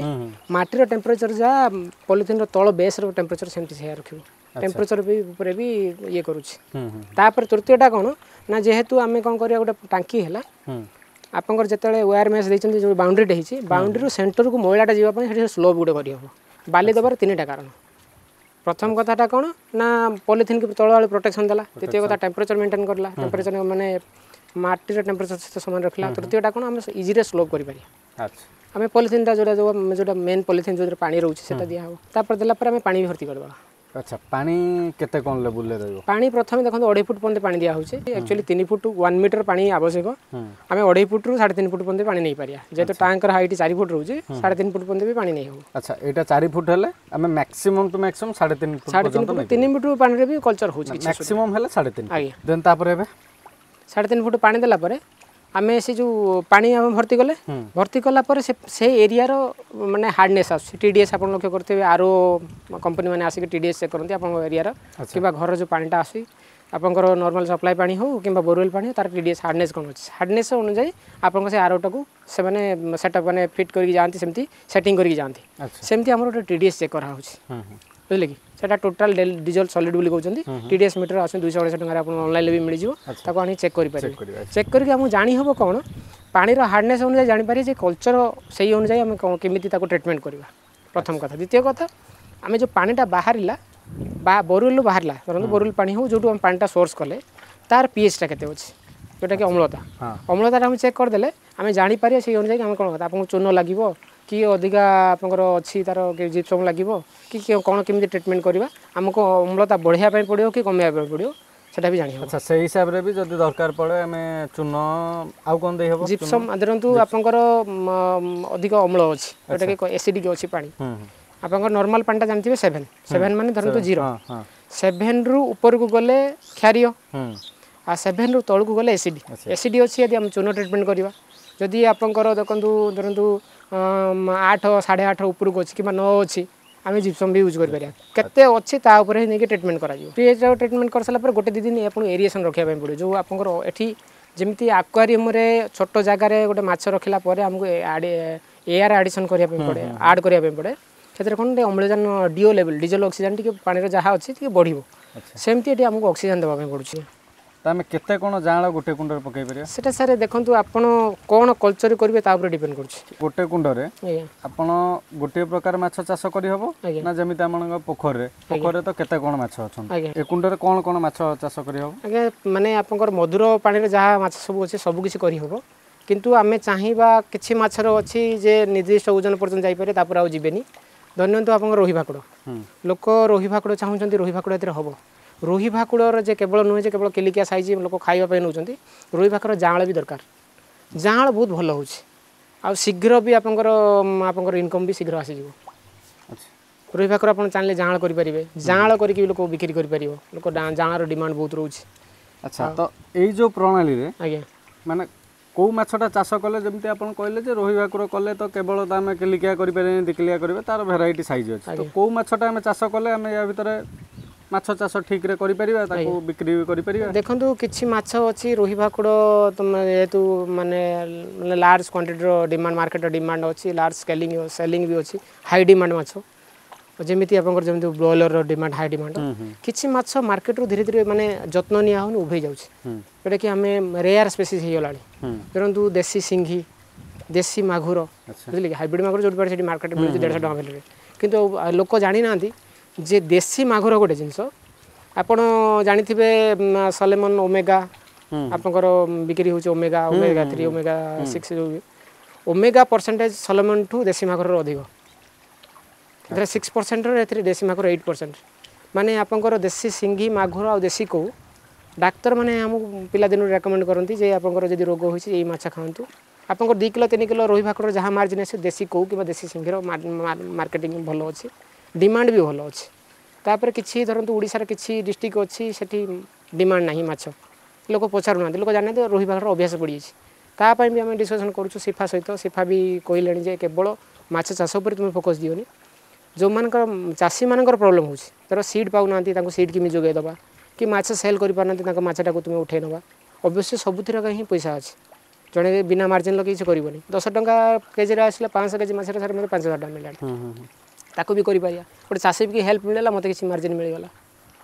ମାଟିର ଟେମ୍ପରେଚର ଯାହା ପଲିଥିନ୍ର ତଳ ବେସ୍ର ଟେମ୍ପରେଚର ସେମିତି ସେଇଆ ରଖିବ, ଟେମ୍ପରେଚର ବି ଉପରେ ବି ଇଏ କରୁଛି। ତାପରେ ତୃତୀୟଟା କ'ଣ ନା ଯେହେତୁ ଆମେ କ'ଣ କରିବା, ଗୋଟେ ଟାଙ୍କି ହେଲା ଆପଣଙ୍କର, ଯେତେବେଳେ ୱେୟାର ମେସ୍ ଦେଇଛନ୍ତି, ଯେଉଁ ବାଉଣ୍ଡ୍ରିଟା ହେଇଛି, ବାଉଣ୍ଡ୍ରିରୁ ସେଣ୍ଟରକୁ ମଇଳାଟା ଯିବା ପାଇଁ ସେଠି ସ୍ଲୋପ୍ ଗୋଟେ କରିହେବ। ବାଲି ଦେବାର ତିନିଟା କାରଣ। ପ୍ରଥମ କଥାଟା କ'ଣ ନା ପଲିଥିନ୍ ତଳ ଆଳୁ ପ୍ରୋଟେକ୍ସନ୍ ଦେଲା, ଦ୍ୱିତୀୟ କଥା ଟେମ୍ପରେଚର ମେଣ୍ଟେନ୍ କରିଲା, ଟେମ୍ପରେଚର ମାନେ ମାଟିର ଟେମ୍ପରେଚର ସହିତ ସମାନ ରଖିଲା, ତୃତୀୟଟା କ'ଣ ଆମେ ଇଜିରେ ସ୍ଲୋପ୍ କରିପାରିବା। ଆଚ୍ଛା। ଆମେ ପଲିଥିନ୍ଟା ଯେଉଁଟା ଯେଉଁ ଯେଉଁଟା ମେନ୍ ପଲିଥିନ୍ ଯେଉଁଥିରେ ପାଣି ରହୁଛି ସେଟା ଦିଆହେବ। ତାପରେ ଦେଲା ପରେ ଆମେ ପାଣି ବି ଭର୍ତ୍ତି କରିଦେବା। ଆଚ୍ଛା, ପାଣି କେତେ କ'ଣ ଲେବୁଲରେ ରହିବ? ପାଣି ପ୍ରଥମେ ଦେଖନ୍ତୁ ଅଢ଼େଇ ଫୁଟ ପର୍ଯ୍ୟନ୍ତ ପାଣି ଦିଆହେଉଛି। ଆକ୍ଚୁଆଲି ତିନି ଫୁଟ ୱାନ୍ ମିଟର ପାଣି ଆବଶ୍ୟକ, ଆମେ ଅଢ଼େଇ ଫୁଟରୁ ସାଢ଼େ ତିନି ଫୁଟ ପର୍ଯ୍ୟନ୍ତ ପାଣି ନେଇପାରିବା। ଯେହେତୁ ଟ୍ୟାଙ୍କର ହାଇଟ୍ ଚାରି ଫୁଟ ରହୁଛି, ସାଢ଼େ ତିନି ଫୁଟ ପର୍ଯ୍ୟନ୍ତ ବି ପାଣି ନେଇ ହେବ। ଆଚ୍ଛା, ଏଇଟା ଚାରି ଫୁଟ ହେଲେ ଆମେ ମ୍ୟାକ୍ସିମମ୍ ଟୁ ମ୍ୟାକ୍ସିମମ୍ ସାଢ଼େ ତିନି ଫୁଟ? ସାଢ଼େ ତିନି ଫୁଟ, ତିନି ଫୁଟ ପାଣିରେ ବି କଲଚର ହେଉଛି। ମ୍ୟାକ୍ସିମମ୍ ହେଲେ ସାଢ଼େ ତିନି। ଆଜ୍ଞା। ଦେନ୍ ତାପରେ ଏବେ ସାଢ଼େ ତିନି ଫୁଟ ପାଣି ଦେଲା ପରେ ଆମେ ସେ ଯେଉଁ ପାଣି ଆମେ ଭର୍ତ୍ତି କଲେ, ଭର୍ତ୍ତି କଲା ପରେ ସେ ସେ ଏରିଆର ମାନେ ହାର୍ଡ଼ନେସ୍ ଆସୁଛି, ଟି ଡି ଏସ୍ ଆପଣ ଲକ୍ଷ୍ୟ କରିଥିବେ, ଆର କମ୍ପାନୀ ମାନେ ଆସିକି ଟି ଡି ଏସ୍ ଚେକ୍ କରନ୍ତି ଆପଣଙ୍କ ଏରିଆର କିମ୍ବା ଘରର ଯେଉଁ ପାଣିଟା ଆସୁଛି, ଆପଣଙ୍କର ନର୍ମାଲ ସପ୍ଲାଏ ପାଣି ହେଉ କିମ୍ବା ବୋରୱେଲ୍ ପାଣି ହେଉ, ତାର ଟି ଡି ଏସ୍ ହାର୍ଡ଼ନେସ୍ କ'ଣ ଅଛି, ହାର୍ଡ଼ନେସ୍ ଅନୁଯାୟୀ ଆପଣଙ୍କ ସେ ଆରଓଟାକୁ ସେମାନେ ସେଟଅପ୍ ମାନେ ଫିଟ୍ କରିକି ଯାଆନ୍ତି, ସେମିତି ସେଟିଂ କରିକି ଯାଆନ୍ତି। ସେମିତି ଆମର ଗୋଟେ ଟି ଡି ଏସ୍ ଚେକ୍ କରାହେଉଛି, ବୁଝିଲେ କି? ସେଟା ଟୋଟାଲ ଡିଜଲ୍ଭ ସଲିଡ୍ ବୋଲି କହୁଛନ୍ତି। ଟି ଡି ଏସ୍ ମିଟର ଆସୁଛି ଦୁଇଶହ ଅଢ଼େଇଶହ ଟଙ୍କାରେ, ଆପଣ ଅନଲାଇନ୍ରେ ବି ମିଳିଯିବ, ତାକୁ ଆଣି ଚେକ୍ କରିପାରିବେ। ଚେକ୍ କରିକି ଆମକୁ ଜାଣି ହେବ କ'ଣ ପାଣିର ହାର୍ଡ଼ନେସ୍ ଅନୁଯାୟୀ ଜାଣିପାରିବେ ଯେ କଲଚର ସେଇ ଅନୁଯାୟୀ ଆମେ କେମିତି ତାକୁ ଟ୍ରିଟମେଣ୍ଟ କରିବା, ପ୍ରଥମ କଥା। ଦ୍ୱିତୀୟ କଥା, ଆମେ ଯେଉଁ ପାଣିଟା ବାହାରିଲା ବା ବୋରୱେଲ୍ରୁ ବାହାରିଲା, ଧରନ୍ତୁ ବୋରୱେଲ୍ ପାଣି ହେଉ, ଯେଉଁଠୁ ଆମେ ପାଣିଟା ସୋର୍ସ କଲେ, ତାର ପିଏଚ୍ଟା କେତେ ଅଛି, ଯେଉଁଟାକି ଅମ୍ଳତା, ଅମ୍ଳତାଟା ଆମେ ଚେକ୍ କରିଦେଲେ ଆମେ ଜାଣିପାରିବା ସେଇ ଅନୁଯାୟୀ ଆମେ କ'ଣ କଥା ଆପଣଙ୍କୁ ଚୂନ ଲାଗିବ କି ଅଧିକା ଆପଣଙ୍କର ଅଛି ତାର ଜିପ୍ସମ୍ ଲାଗିବ କି କ'ଣ କେମିତି ଟ୍ରିଟମେଣ୍ଟ କରିବା, ଆମକୁ ଅମ୍ଳତା ବଢ଼ାଇବା ପାଇଁ ପଡ଼ିବ କି କମାଇବା ପାଇଁ ପଡ଼ିବ, ସେଟା ବି ଜାଣି ହେବ। ଆଚ୍ଛା, ସେଇ ହିସାବରେ ବି ଯଦି ଦରକାର ପଡ଼େ ଆମେ ଚୂନ ଆଉ କ'ଣ ଦେଇ ହେବ? ଜିପ୍ସମ୍ ଧରନ୍ତୁ ଆପଣଙ୍କର ଅଧିକ ଅମ୍ଳ ଅଛି, ଯେଉଁଟାକି ଏସିଡ଼ିକ୍ ଅଛି ପାଣି, ଆପଣଙ୍କର ନର୍ମାଲ ପାଣିଟା ଜାଣିଥିବେ ସେଭେନ୍, ସେଭେନ୍ ମାନେ ଧରନ୍ତୁ ଜିରୋ, ସେଭେନ୍ରୁ ଉପରକୁ ଗଲେ କ୍ଷାରୀୟ, ଆଉ ସେଭେନ୍ରୁ ତଳକୁ ଗଲେ ଏସିଡ୍। ଏସିଡ୍ ଅଛି ଯଦି ଆମେ ଚୂନ ଟ୍ରିଟମେଣ୍ଟ କରିବା। ଯଦି ଆପଣଙ୍କର ଦେଖନ୍ତୁ ଧରନ୍ତୁ ଆଠ ସାଢ଼େ ଆଠ ଉପରକୁ ଅଛି କିମ୍ବା ନଅ ଅଛି, ଆମେ ଜିପ୍ସମ୍ ବି ୟୁଜ୍ କରିପାରିବା କେତେ ଅଛି ତା ଉପରେ ହିଁ ନେଇକି ଟ୍ରିଟମେଣ୍ଟ କରାଯିବ ପିଏଚ୍ ଟ୍ରିଟମେଣ୍ଟ କରିସାରିଲା ପରେ ଗୋଟେ ଦୁଇ ଦିନ ଆପଣଙ୍କୁ ଏରିଏସନ୍ ରଖିବା ପାଇଁ ପଡ଼ିବ ଯେଉଁ ଆପଣଙ୍କର ଏଠି ଯେମିତି ଆକ୍ୱାରିୟମରେ ଛୋଟ ଜାଗାରେ ଗୋଟେ ମାଛ ରଖିଲା ପରେ ଆମକୁ ଏୟାର ଆଡ଼ିସନ୍ କରିବା ପାଇଁ ପଡ଼େ ଆଡ଼୍ କରିବା ପାଇଁ ପଡ଼େ ସେଥିରେ କ'ଣ ଟିକେ ଅମ୍ଳଜାନ ଡିଓ ଲେଭେଲ୍ ଡିଜେଲ ଅକ୍ସିଜେନ୍ ଟିକେ ପାଣିର ଯାହା ଅଛି ଟିକେ ବଢ଼ିବ ସେମିତି ଏଠି ଆମକୁ ଅକ୍ସିଜେନ୍ ଦେବା ପାଇଁ ପଡ଼ୁଛି ତ ଆମେ କେତେ କ'ଣ ଜାଆଁଳ ଗୋଟେ କୁଣ୍ଡରେ ପକାଇ ପାରିବା ସେଟା ସାର୍ ଦେଖନ୍ତୁ ଆପଣ କ'ଣ କଲଚର କରିବେ ତା ଉପରେ ଡିପେଣ୍ଡ କରୁଛି ଗୋଟେ କୁଣ୍ଡରେ ଆଜ୍ଞା ଆପଣ ଗୋଟିଏ ପ୍ରକାର ମାଛ ଚାଷ କରିହେବ ଆଜ୍ଞା। ନା ଯେମିତି ଆପଣଙ୍କ ପୋଖରୀରେ ପୋଖରୀରେ ତ କେତେ କ'ଣ ମାଛ ଅଛନ୍ତି ଆଜ୍ଞା ଏ କୁଣ୍ଡରେ କ'ଣ କ'ଣ ମାଛ ଚାଷ କରିହେବ ଆଜ୍ଞା ମାନେ ଆପଣଙ୍କର ମଧୁର ପାଣିରେ ଯାହା ମାଛ ସବୁ ଅଛି ସବୁ କିଛି କରିହେବ କିନ୍ତୁ ଆମେ ଚାହିଁବା କିଛି ମାଛର ଅଛି ଯେ ନିର୍ଦ୍ଦିଷ୍ଟ ଓଜନ ପର୍ଯ୍ୟନ୍ତ ଯାଇପାରିବେ ତାପରେ ଆଉ ଯିବେନି ଧରିନିଅନ୍ତୁ ଆପଣଙ୍କ ରୋହି ଭାକୁଡ଼ ହୁଁ ଲୋକ ରୋହି ଭାକୁଡ଼ ଚାହୁଁଛନ୍ତି ରୋହି ଭାକୁଡ଼ ଏଥିରେ ହେବ ରୋହି ଭାକୁଡ଼ର ଯେ କେବଳ ନୁହେଁ ଯେ କେବଳ କିଲିକିଆ ସାଇଜ୍ ଲୋକ ଖାଇବା ପାଇଁ ନେଉଛନ୍ତି ରୋହି ଭାକୁଡ଼ ଜାଆଁଳ ବି ଦରକାର ଜାଆଁଳ ବହୁତ ଭଲ ହେଉଛି ଆଉ ଶୀଘ୍ର ବି ଆପଣଙ୍କର ଆପଣଙ୍କର ଇନକମ୍ ବି ଶୀଘ୍ର ଆସିଯିବ ଆଚ୍ଛା ରୋହି ଭାକୁର ଆପଣ ଚାହିଁଲେ ଜାଆଁଳ କରିପାରିବେ ଜାଆଁଳ କରିକି ବି ଲୋକ ବିକ୍ରି କରିପାରିବ ଲୋକ ଜାଆଁଳର ଡିମାଣ୍ଡ ବହୁତ ରହୁଛି ଆଚ୍ଛା ତ ଏଇ ଯେଉଁ ପ୍ରଣାଳୀରେ ଆଜ୍ଞା ମାନେ କେଉଁ ମାଛଟା ଚାଷ କଲେ ଯେମିତି ଆପଣ କହିଲେ ଯେ ରୋହି ଭାକୁର କଲେ ତ କେବଳ ତ ଆମେ କିଲିକିଆ କରିପାରିବାନି ଦୁଇ କିଲିଆ କରିବା ତାର ଭେରାଇଟି ସାଇଜ୍ ଅଛି ତ କେଉଁ ମାଛଟା ଆମେ ଚାଷ କଲେ ଆମେ ୟା ଭିତରେ ମାଛ ଚାଷ ଠିକ୍ରେ କରିପାରିବା ତାକୁ ବିକ୍ରି ବି କରିପାରିବା ଦେଖନ୍ତୁ କିଛି ମାଛ ଅଛି ରୋହି ଭାକୁଡ଼ ତମେ ଯେହେତୁ ମାନେ ମାନେ ଲାର୍ଜ କ୍ୱାଣ୍ଟିଟିର ଡିମାଣ୍ଡ ମାର୍କେଟର ଡିମାଣ୍ଡ ଅଛି ଲାର୍ଜ ସ୍କେଲିଂ ସେଲିଂ ବି ଅଛି ହାଇ ଡିମାଣ୍ଡ ମାଛ ଯେମିତି ଆପଣଙ୍କର ଯେମିତି ବ୍ରଏଲରର ଡିମାଣ୍ଡ ହାଇ ଡିମାଣ୍ଡ କିଛି ମାଛ ମାର୍କେଟରୁ ଧୀରେ ଧୀରେ ମାନେ ଯତ୍ନ ନିଆ ହେଉନି ଉଭେଇ ଯାଉଛି ହୁଁ ଯେଉଁଟାକି ଆମେ ରେୟାର ସ୍ପେସିସ୍ ହେଇଗଲାଣି ହୁଁ ଧରନ୍ତୁ ଦେଶୀ ସିଙ୍ଘି ଦେଶୀ ମାଗୁର ଆଚ୍ଛା ବୁଝିଲେ କି ହାଇବ୍ରିଡ଼ ମାଗୁର ଯେଉଁଠି ପାରେ ସେଠି ମାର୍କେଟ ମିଳୁଛି ଦେଢ଼ଶହ ଟଙ୍କା ଭ୍ୟାଲୁରେ କିନ୍ତୁ ଲୋକ ଜାଣିନାହାନ୍ତି ଯେ ଦେଶୀ ମାଗୁର ଗୋଟେ ଜିନିଷ ଆପଣ ଜାଣିଥିବେ ସଲେମନ ଓମେଗା ହୁଁ ଆପଣଙ୍କର ବିକ୍ରି ହେଉଛି omega omega three omega six ଯେଉଁ ଓମେଗା ପରସେଣ୍ଟେଜ୍ ସଲମନଠୁ ଦେଶୀ ମାଗୁରର ଅଧିକ ଏଥିରେ ସିକ୍ସ ପରସେଣ୍ଟର ଏଥିରେ ଦେଶୀ ମାଗୁର ଏଇଟ୍ ପରସେଣ୍ଟ ମାନେ ଆପଣଙ୍କର ଦେଶୀ ସିଙ୍ଗି ମାଗୁର ଆଉ ଦେଶୀ କଉ ଡାକ୍ତରମାନେ ଆମକୁ ପିଲାଦିନରୁ ରେକମେଣ୍ଡ କରନ୍ତି ଯେ ଆପଣଙ୍କର ଯଦି ରୋଗ ହୋଇଛି ଏଇ ମାଛ ଖାଆନ୍ତୁ ଆପଣଙ୍କର ଦୁଇ କିଲୋ ତିନି କିଲୋ ରୋହି ଭାକୁର ଯାହା ମାର୍ଜିନ୍ ଆସେ ଦେଶୀ କଉ କିମ୍ବା ଦେଶୀ ସିଙ୍ଗିର ମାର୍କେଟିଂ ଭଲ ଅଛି ଡିମାଣ୍ଡ ବି ଭଲ ଅଛି ତାପରେ କିଛି ଧରନ୍ତୁ ଓଡ଼ିଶାର କିଛି ଡିଷ୍ଟ୍ରିକ୍ଟ ଅଛି ସେଠି ଡିମାଣ୍ଡ ନାହିଁ ମାଛ ଲୋକ ପଚାରୁନାହାନ୍ତି ଲୋକ ଜାଣିନାହାନ୍ତି ରୋହି ଭାକୁର ଅଭ୍ୟାସ ପଡ଼ିଯାଇଛି ତା ପାଇଁ ବି ଆମେ ଡିସ୍କସନ୍ କରୁଛୁ ସିଫା ସହିତ ସିଫା ବି କହିଲେଣି ଯେ କେବଳ ମାଛ ଚାଷ ଉପରେ ତୁମେ ଫୋକସ୍ ଦିଅନି ଯେଉଁମାନଙ୍କର ଚାଷୀମାନଙ୍କର ପ୍ରୋବ୍ଲେମ୍ ହେଉଛି ଧର ସିଡ଼୍ ପାଉନାହାନ୍ତି ତାଙ୍କୁ ସିଡ଼୍ କେମିତି ଯୋଗାଇ ଦେବା କି ମାଛ ସେଲ୍ କରିପାରୁନାହାନ୍ତି ତାଙ୍କ ମାଛଟାକୁ ତୁମେ ଉଠେଇ ନେବା ଅବଶ୍ୟ ସବୁଥିରେ ହିଁ ପଇସା ଅଛି ଜଣେ ବିନା ମାର୍ଜିନ୍ ଲଗେଇ କିଛି କରିବନି ଦଶ ଟଙ୍କା କେଜିରେ ଆସିଲେ ପାଞ୍ଚଶହ କେଜି ମାଛରେ ସାର୍ ମୋତେ ପାଞ୍ଚ ହଜାର ଟଙ୍କା ମିଳିଲାଣି ହୁଁ ହୁଁ ହୁଁ ତାକୁ ବି କରିପାରିବା ଗୋଟେ ଚାଷୀ ବି ହେଲ୍ପ ମିଳିଲା ମୋତେ କିଛି ମାର୍ଜିନ୍ ମିଳିଗଲା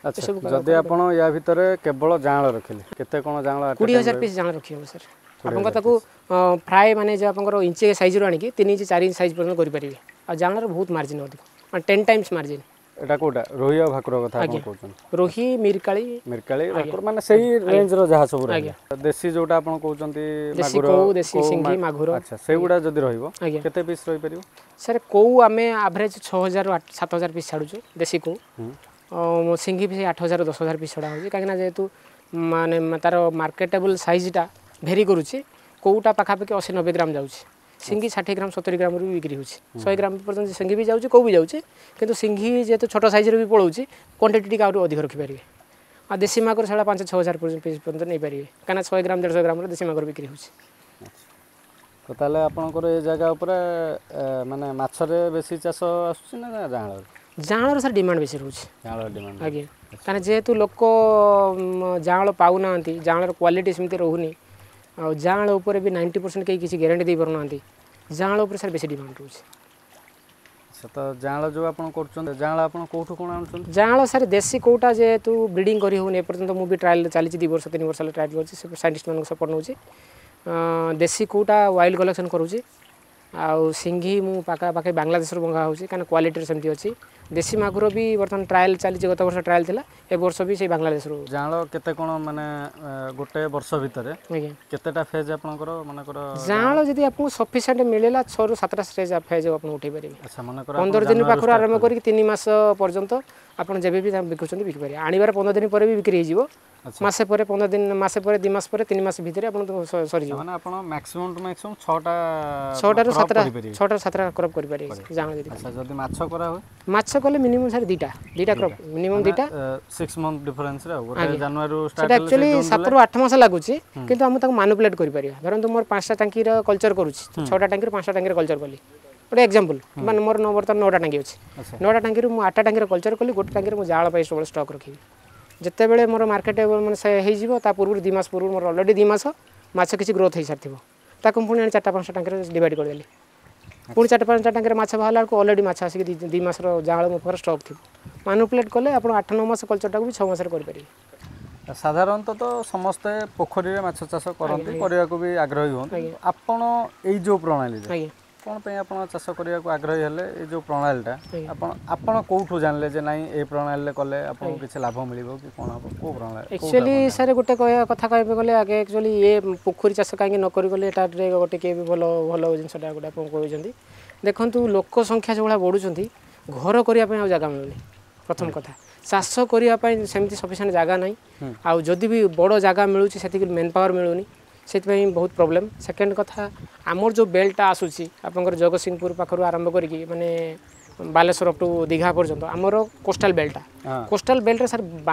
ଆଚ୍ଛା ଯଦି ଆପଣ ୟା ଭିତରେ କେବଳ ଜାଆଁଳ ରଖିଲେ କେତେ କ'ଣ ଜାଆଁଳ at a କୋଡ଼ିଏ time ହଜାର ପିସ୍ ଜାଆଁଳ ରଖିହେବ ସାର୍ ଆପଣଙ୍କ ତାକୁ ଫ୍ରାଏ ମାନେ ଯେଉଁ ଆପଣଙ୍କର ଇଞ୍ଚେ ସାଇଜ୍ରୁ ଆଣିକି ତିନି ଇଞ୍ଚ ଚାରି ଇଞ୍ଚ ସାଇଜ୍ ପର୍ଯ୍ୟନ୍ତ କରିପାରିବେ ଆଉ ଜାଆଁଳର ବହୁତ ମାର୍ଜିନ୍ ଅଧିକ ମାନେ ଟେନ୍ ଟାଇମ୍ସ ମାର୍ଜିନ୍ ଏଇଟା କୋଉଟା ରୋହି ଆଉ ଭାକୁର କଥା ଆପଣ କହୁଛନ୍ତି ରୋହି ମିରକାଳି ମିରକାଳି ଭାକୁର ମାନେ ସେଇ ରେଞ୍ଜର ଯାହା ସବୁ ରହିଲା ଦେଶୀ ଯୋଉଟା ଆପଣ କହୁଛନ୍ତି ଦେଶୀ ମାଗୁର କଉ ଦେଶୀ କଉ, ସିଙ୍ଗି ମା- ମାଗୁର ଆଚ୍ଛା ସେଇଗୁଡ଼ା ଯଦି ରହିବ ଆଜ୍ଞା କେତେ ପିସ୍ ରହିପାରିବ ସାର୍ କଉ ଆମେ ଆଭରେଜ୍ ଛଅ ହଜାରରୁ ଆଠ ସାତ ହଜାର ପିସ୍ ଛାଡ଼ୁଛୁ ଦେଶୀ କଉ ହୁଁ ଆଉ ସିଙ୍ଗି ବି ସେଇ ଆଠ ହଜାର ଦଶ ହଜାର ପିସ୍ ଛଡ଼ା ହେଉଛି କାହିଁକିନା ଯେହେତୁ ମାନେ ତାର ମାର୍କେଟେବଲ୍ ସାଇଜ୍ଟା ଭେରି କରୁଛି କଉଟା ପାଖାପାଖି ଅଶୀ ନବେ ଗ୍ରାମ ଯାଉଛି ସିଙ୍ଗି ଷାଠିଏ ଗ୍ରାମ ସତୁରି ଗ୍ରାମରୁ ବି ବିକ୍ରି ହେଉଛି ଶହେ ଗ୍ରାମ ପର୍ଯ୍ୟନ୍ତ ସିଙ୍ଗି ବି ଯାଉଛି କଉ ବି ଯାଉଛି କିନ୍ତୁ ସିଙ୍ଗି ଯେହେତୁ ଛୋଟ ସାଇଜ୍ର ବି ପଳାଉଛି କ୍ୱାଣ୍ଟିଟି ଟିକେ ଆହୁରି ଅଧିକ ରଖିପାରିବେ ଆଉ ଦେଶୀ ମାଗୁର ସେଇଟା ପାଞ୍ଚ ଛଅ ହଜାର ପର୍ଯ୍ୟନ୍ତ ପିସ୍ ପର୍ଯ୍ୟନ୍ତ ନେଇପାରିବେ କାହିଁକିନା ଶହେ ଗ୍ରାମ ଦେଢ଼ଶହ ଗ୍ରାମର ଦେଶୀ ମାଗୁର ବିକ୍ରି ହେଉଛି ତ ତାହେଲେ ଆପଣଙ୍କର ଏ ଜାଗା ଉପରେ ଏ, ମାନେ ମାଛରେ ବେଶୀ ଚାଷ ଆସୁଛି ନା ଜାଆଁଳରେ ଜାଆଁଳର ସାର୍ ଡିମାଣ୍ଡ ବେଶୀ ରହୁଛି ଜାଆଁଳ ଡିମାଣ୍ଡ ଆଜ୍ଞା କାହିଁକିନା ଯେହେତୁ ଲୋକ ଉମ, ଜାଆଁଳ ପାଉନାହାନ୍ତି ଜାଆଁଳର କ୍ୱାଲିଟି ସେମିତି ରହୁନି ଆଉ ଜାଆଁଳ ଉପରେ ବି ନାଇଣ୍ଟି ପରସେଣ୍ଟ କେହି କିଛି ଗ୍ୟାରେଣ୍ଟି ଦେଇପାରୁନାହାନ୍ତି ଜାଆଁଳ ଉପରେ ସାର୍ ବେଶୀ ଡିମାଣ୍ଡ ରହୁଛି ଆଚ୍ଛା ତ ଜାଆଁଳ ଯେଉଁ ଆପଣ କରୁଛନ୍ତି ଜାଆଁଳ ଆପଣ କେଉଁଠୁ କ'ଣ ଆଣୁଛନ୍ତି ଜାଆଁଳ ସାର୍ ଦେଶୀ କେଉଁଟା ଯେହେତୁ ବ୍ରିଡ଼ିଂ କରି ହେଉନି ଏପର୍ଯ୍ୟନ୍ତ ମୁଁ ବି ଟ୍ରାଏଲ୍ ଚାଲିଛି ଦୁଇ ବର୍ଷ ତିନି ବର୍ଷ ହେଲା ଟ୍ରାଏଲ୍ କରୁଛି ସେ ସାଇଣ୍ଟିଷ୍ଟମାନଙ୍କୁ ସପୋର୍ଟ ନେଉଛି ଅଁ, ଦେଶୀ କେଉଁଟା ୱାଇଲ୍ଡ କଲେକ୍ସନ୍ କରୁଛି ଆଉ ସିଙ୍ଘି ମୁଁ ପାଖାପାଖି ବାଂଲାଦେଶରୁ ମଙ୍ଗା ହେଉଛି କାହିଁକିନା କ୍ୱାଲିଟିର ସେମିତି ଅଛି ଦେଶୀ ମାଗୁର ବି ବର୍ତ୍ତମାନ ଟ୍ରାଏଲ୍ ଚାଲିଛି ଗତ ବର୍ଷ ଟ୍ରାଏଲ୍ ଥିଲା ଏ ବର୍ଷ ବି ସେଇ ବାଂଲାଦେଶରୁ ଜାଆଁଳ କେତେ କ'ଣ ମାନେ ଏ, ଗୋଟେ ବର୍ଷ ଭିତରେ ଆଜ୍ଞା କେତେଟା ଫେଜ୍ ଆପଣଙ୍କର ମନେକର ଜାଆଁଳ ଯଦି ଆପଣଙ୍କୁ ସଫିସିଏଣ୍ଟ ମିଳିଲା ଛଅରୁ ସାତଟା ଷ୍ଟେଜ୍ ଫେଜ୍ ଆପଣ ଉଠେଇ ପାରିବେ ଆଚ୍ଛା ମନେକର ପନ୍ଦର ଦିନ ପାଖରୁ ଆରମ୍ଭ କରିକି ତିନି ମାସ ପର୍ଯ୍ୟନ୍ତ ଆପଣ ଯେବେ ବି ତାକୁ ବିକୁଛନ୍ତି ବିକିପାରିବେ ଆଣିବାର ପନ୍ଦର ଦିନ ପରେ ବି ବିକ୍ରି ହେଇଯିବ ଆଚ୍ଛା। ମାସେ ପରେ ପନ୍ଦର ଦିନ ମାସେ ପରେ ଦୁଇ ମାସ ପରେ ତିନି ମାସ ଭିତରେ ଆପଣ ସ- ସରିଯିବ ମାନେ ଆପଣ ମ୍ୟାକ୍ସିମମ୍ ଟୁ ମ୍ୟାକ୍ସିମମ୍ ଛଅଟା ଛଅଟାରୁ crop ସାତଟା କରିପାରିବେ ଛଅଟାରୁ ସାତଟା କ୍ରପ୍ କରିପାରିବେ ଜାଆଁଳ ଯଦି ଆଚ୍ଛା ଯଦି ମାଛ କରା ହୁଏ ମାଛ କଲେ ମିନିମମ୍ ସାର୍ ଦୁଇଟା ଦୁଇଟା କ୍ରପ୍ ମିନିମମ୍ ଦୁଇଟା ସିକ୍ସ ମନ୍ଥ ଡିଫରେନ୍ସରେ ଆଉ ଗୋଟେ ଜାନୁଆରୀରୁ ସେଟା ଷ୍ଟାର୍ଟ ହେଲେ ଆକ୍ଚୁଆଲି ସାତରୁ ଆଠ ମାସ ଲାଗୁଛି କିନ୍ତୁ ଆମେ ତାକୁ ମାନୁପୁଲେଟ୍ କରିପାରିବା ଧରନ୍ତୁ ମୋର ପାଞ୍ଚଟା ଟାଙ୍କିର କଲଚର କରୁଛି ଛଅଟା ଟାଙ୍କିରୁ ପାଞ୍ଚଟା ଟାଙ୍କିର କଲଚର କଲି ଗୋଟେ ଏକ୍ଜାମ୍ପଲ୍ ମାନେ ମୋର ନ ବର୍ତ୍ତମାନ ନଅଟା ଟାଙ୍କି ଅଛି ନଅଟା ଟାଙ୍କିରୁ ମୁଁ ଆଠଟା ଟାଙ୍କିର କଲଚର କଲି ଗୋଟେ ଟାଙ୍କିରେ ମୁଁ ଜାଳ ପାଇଁ ସବୁବେଳେ ଷ୍ଟକ୍ ରଖିବି ଯେତେବେଳେ ମୋର ମାର୍କେଟ ମାନେ ସେ ହେଇଯିବ ତା ପୂର୍ବରୁ ଦୁଇ ମାସ ପୂର୍ବରୁ ମୋର ଅଲରେଡ଼ି ଦୁଇ ମାସ ମାଛ କିଛି ଗ୍ରୋଥ୍ ହେଇସାରିଥିବ ତାକୁ ମୁଁ ପୁଣି ଆଣି ଚାରିଟା ପାଞ୍ଚଟା ଟାଙ୍କିରେ ଡିଭାଇଡ଼ କରିଦେଲି ପୁଣି ଚାରିଟା ପାଞ୍ଚଟା ଟାଙ୍କିରେ ମାଛ ବାହାରିଲା ବେଳକୁ ଅଲରେଡ଼ି ମାଛ ଆସିକି ଦୁଇ ମାସର ଜାଳ ମୋ ପାଖରେ ଷ୍ଟକ୍ ଥିବ ମାନୁପୁଲେଟ୍ କଲେ ଆପଣ ଆଠ ନଅ ମାସ କଲଚରଟାକୁ ବି ଛଅ ମାସରେ କରିପାରିବେ ସାଧାରଣତଃ ତ ସମସ୍ତେ ପୋଖରୀରେ ମାଛ ଚାଷ କରନ୍ତି କରିବାକୁ ବି ଆଗ୍ରହୀ ହୁଅନ୍ତି ଆପଣ ଏଇ ଯେଉଁ ପ୍ରଣାଳୀରେ ଆଜ୍ଞା କ'ଣ ପାଇଁ ଆପଣ ଚାଷ କରିବାକୁ ଆଗ୍ରହୀ ହେଲେ ଏଇ ଯେଉଁ ପ୍ରଣାଳୀଟା ଆପଣ ଆପଣ କେଉଁଠୁ ଜାଣିଲେ ଯେ ନାଇଁ ଏଇ ପ୍ରଣାଳୀରେ କଲେ ଆପଣଙ୍କୁ କିଛି ଲାଭ ମିଳିବ କି କ'ଣ ହେବ କେଉଁ ପ୍ରଣାଳୀ ଆକ୍ଚୁଆଲି ସାର୍ ଗୋଟେ କହିବା କଥା କହିବାକୁ ଗଲେ ଆଗେ ଆକ୍ଚୁଆଲି ଇଏ ପୋଖରୀ ଚାଷ କାହିଁକି ନ କରିଗଲେ ଏଟା ଗୋଟେ କିଏ ବି ଭଲ ଭଲ ଜିନିଷଟା ଗୋଟେ ଆପଣ କହୁଛନ୍ତି ଦେଖନ୍ତୁ ଲୋକ ସଂଖ୍ୟା ଯେଉଁଭଳିଆ ବଢ଼ୁଛନ୍ତି ଘର କରିବା ପାଇଁ ଆଉ ଜାଗା ମିଳୁନି ପ୍ରଥମ କଥା ଚାଷ କରିବା ପାଇଁ ସେମିତି ସଫିସିଏଣ୍ଟ ଜାଗା ନାହିଁ ଆଉ ଯଦି ବି ବଡ଼ ଜାଗା ମିଳୁଛି ସେତିକି ମେନ୍ ପାୱାର ମିଳୁନି ସେଥିପାଇଁ ବହୁତ ପ୍ରୋବ୍ଲେମ୍ ସେକେଣ୍ଡ କଥା ଆମର ଯେଉଁ ବେଲ୍ଟଟା ଆସୁଛି ଆପଣଙ୍କର ଜଗତସିଂହପୁର ପାଖରୁ ଆରମ୍ଭ କରିକି ମାନେ ବାଲେଶ୍ୱର ଅପ୍ ଟୁ ଦୀଘା ପର୍ଯ୍ୟନ୍ତ ଆମର କୋଷ୍ଟାଲ ବେଲ୍ଟଟା କୋଷ୍ଟାଲ ବେଲ୍ଟରେ ସାର୍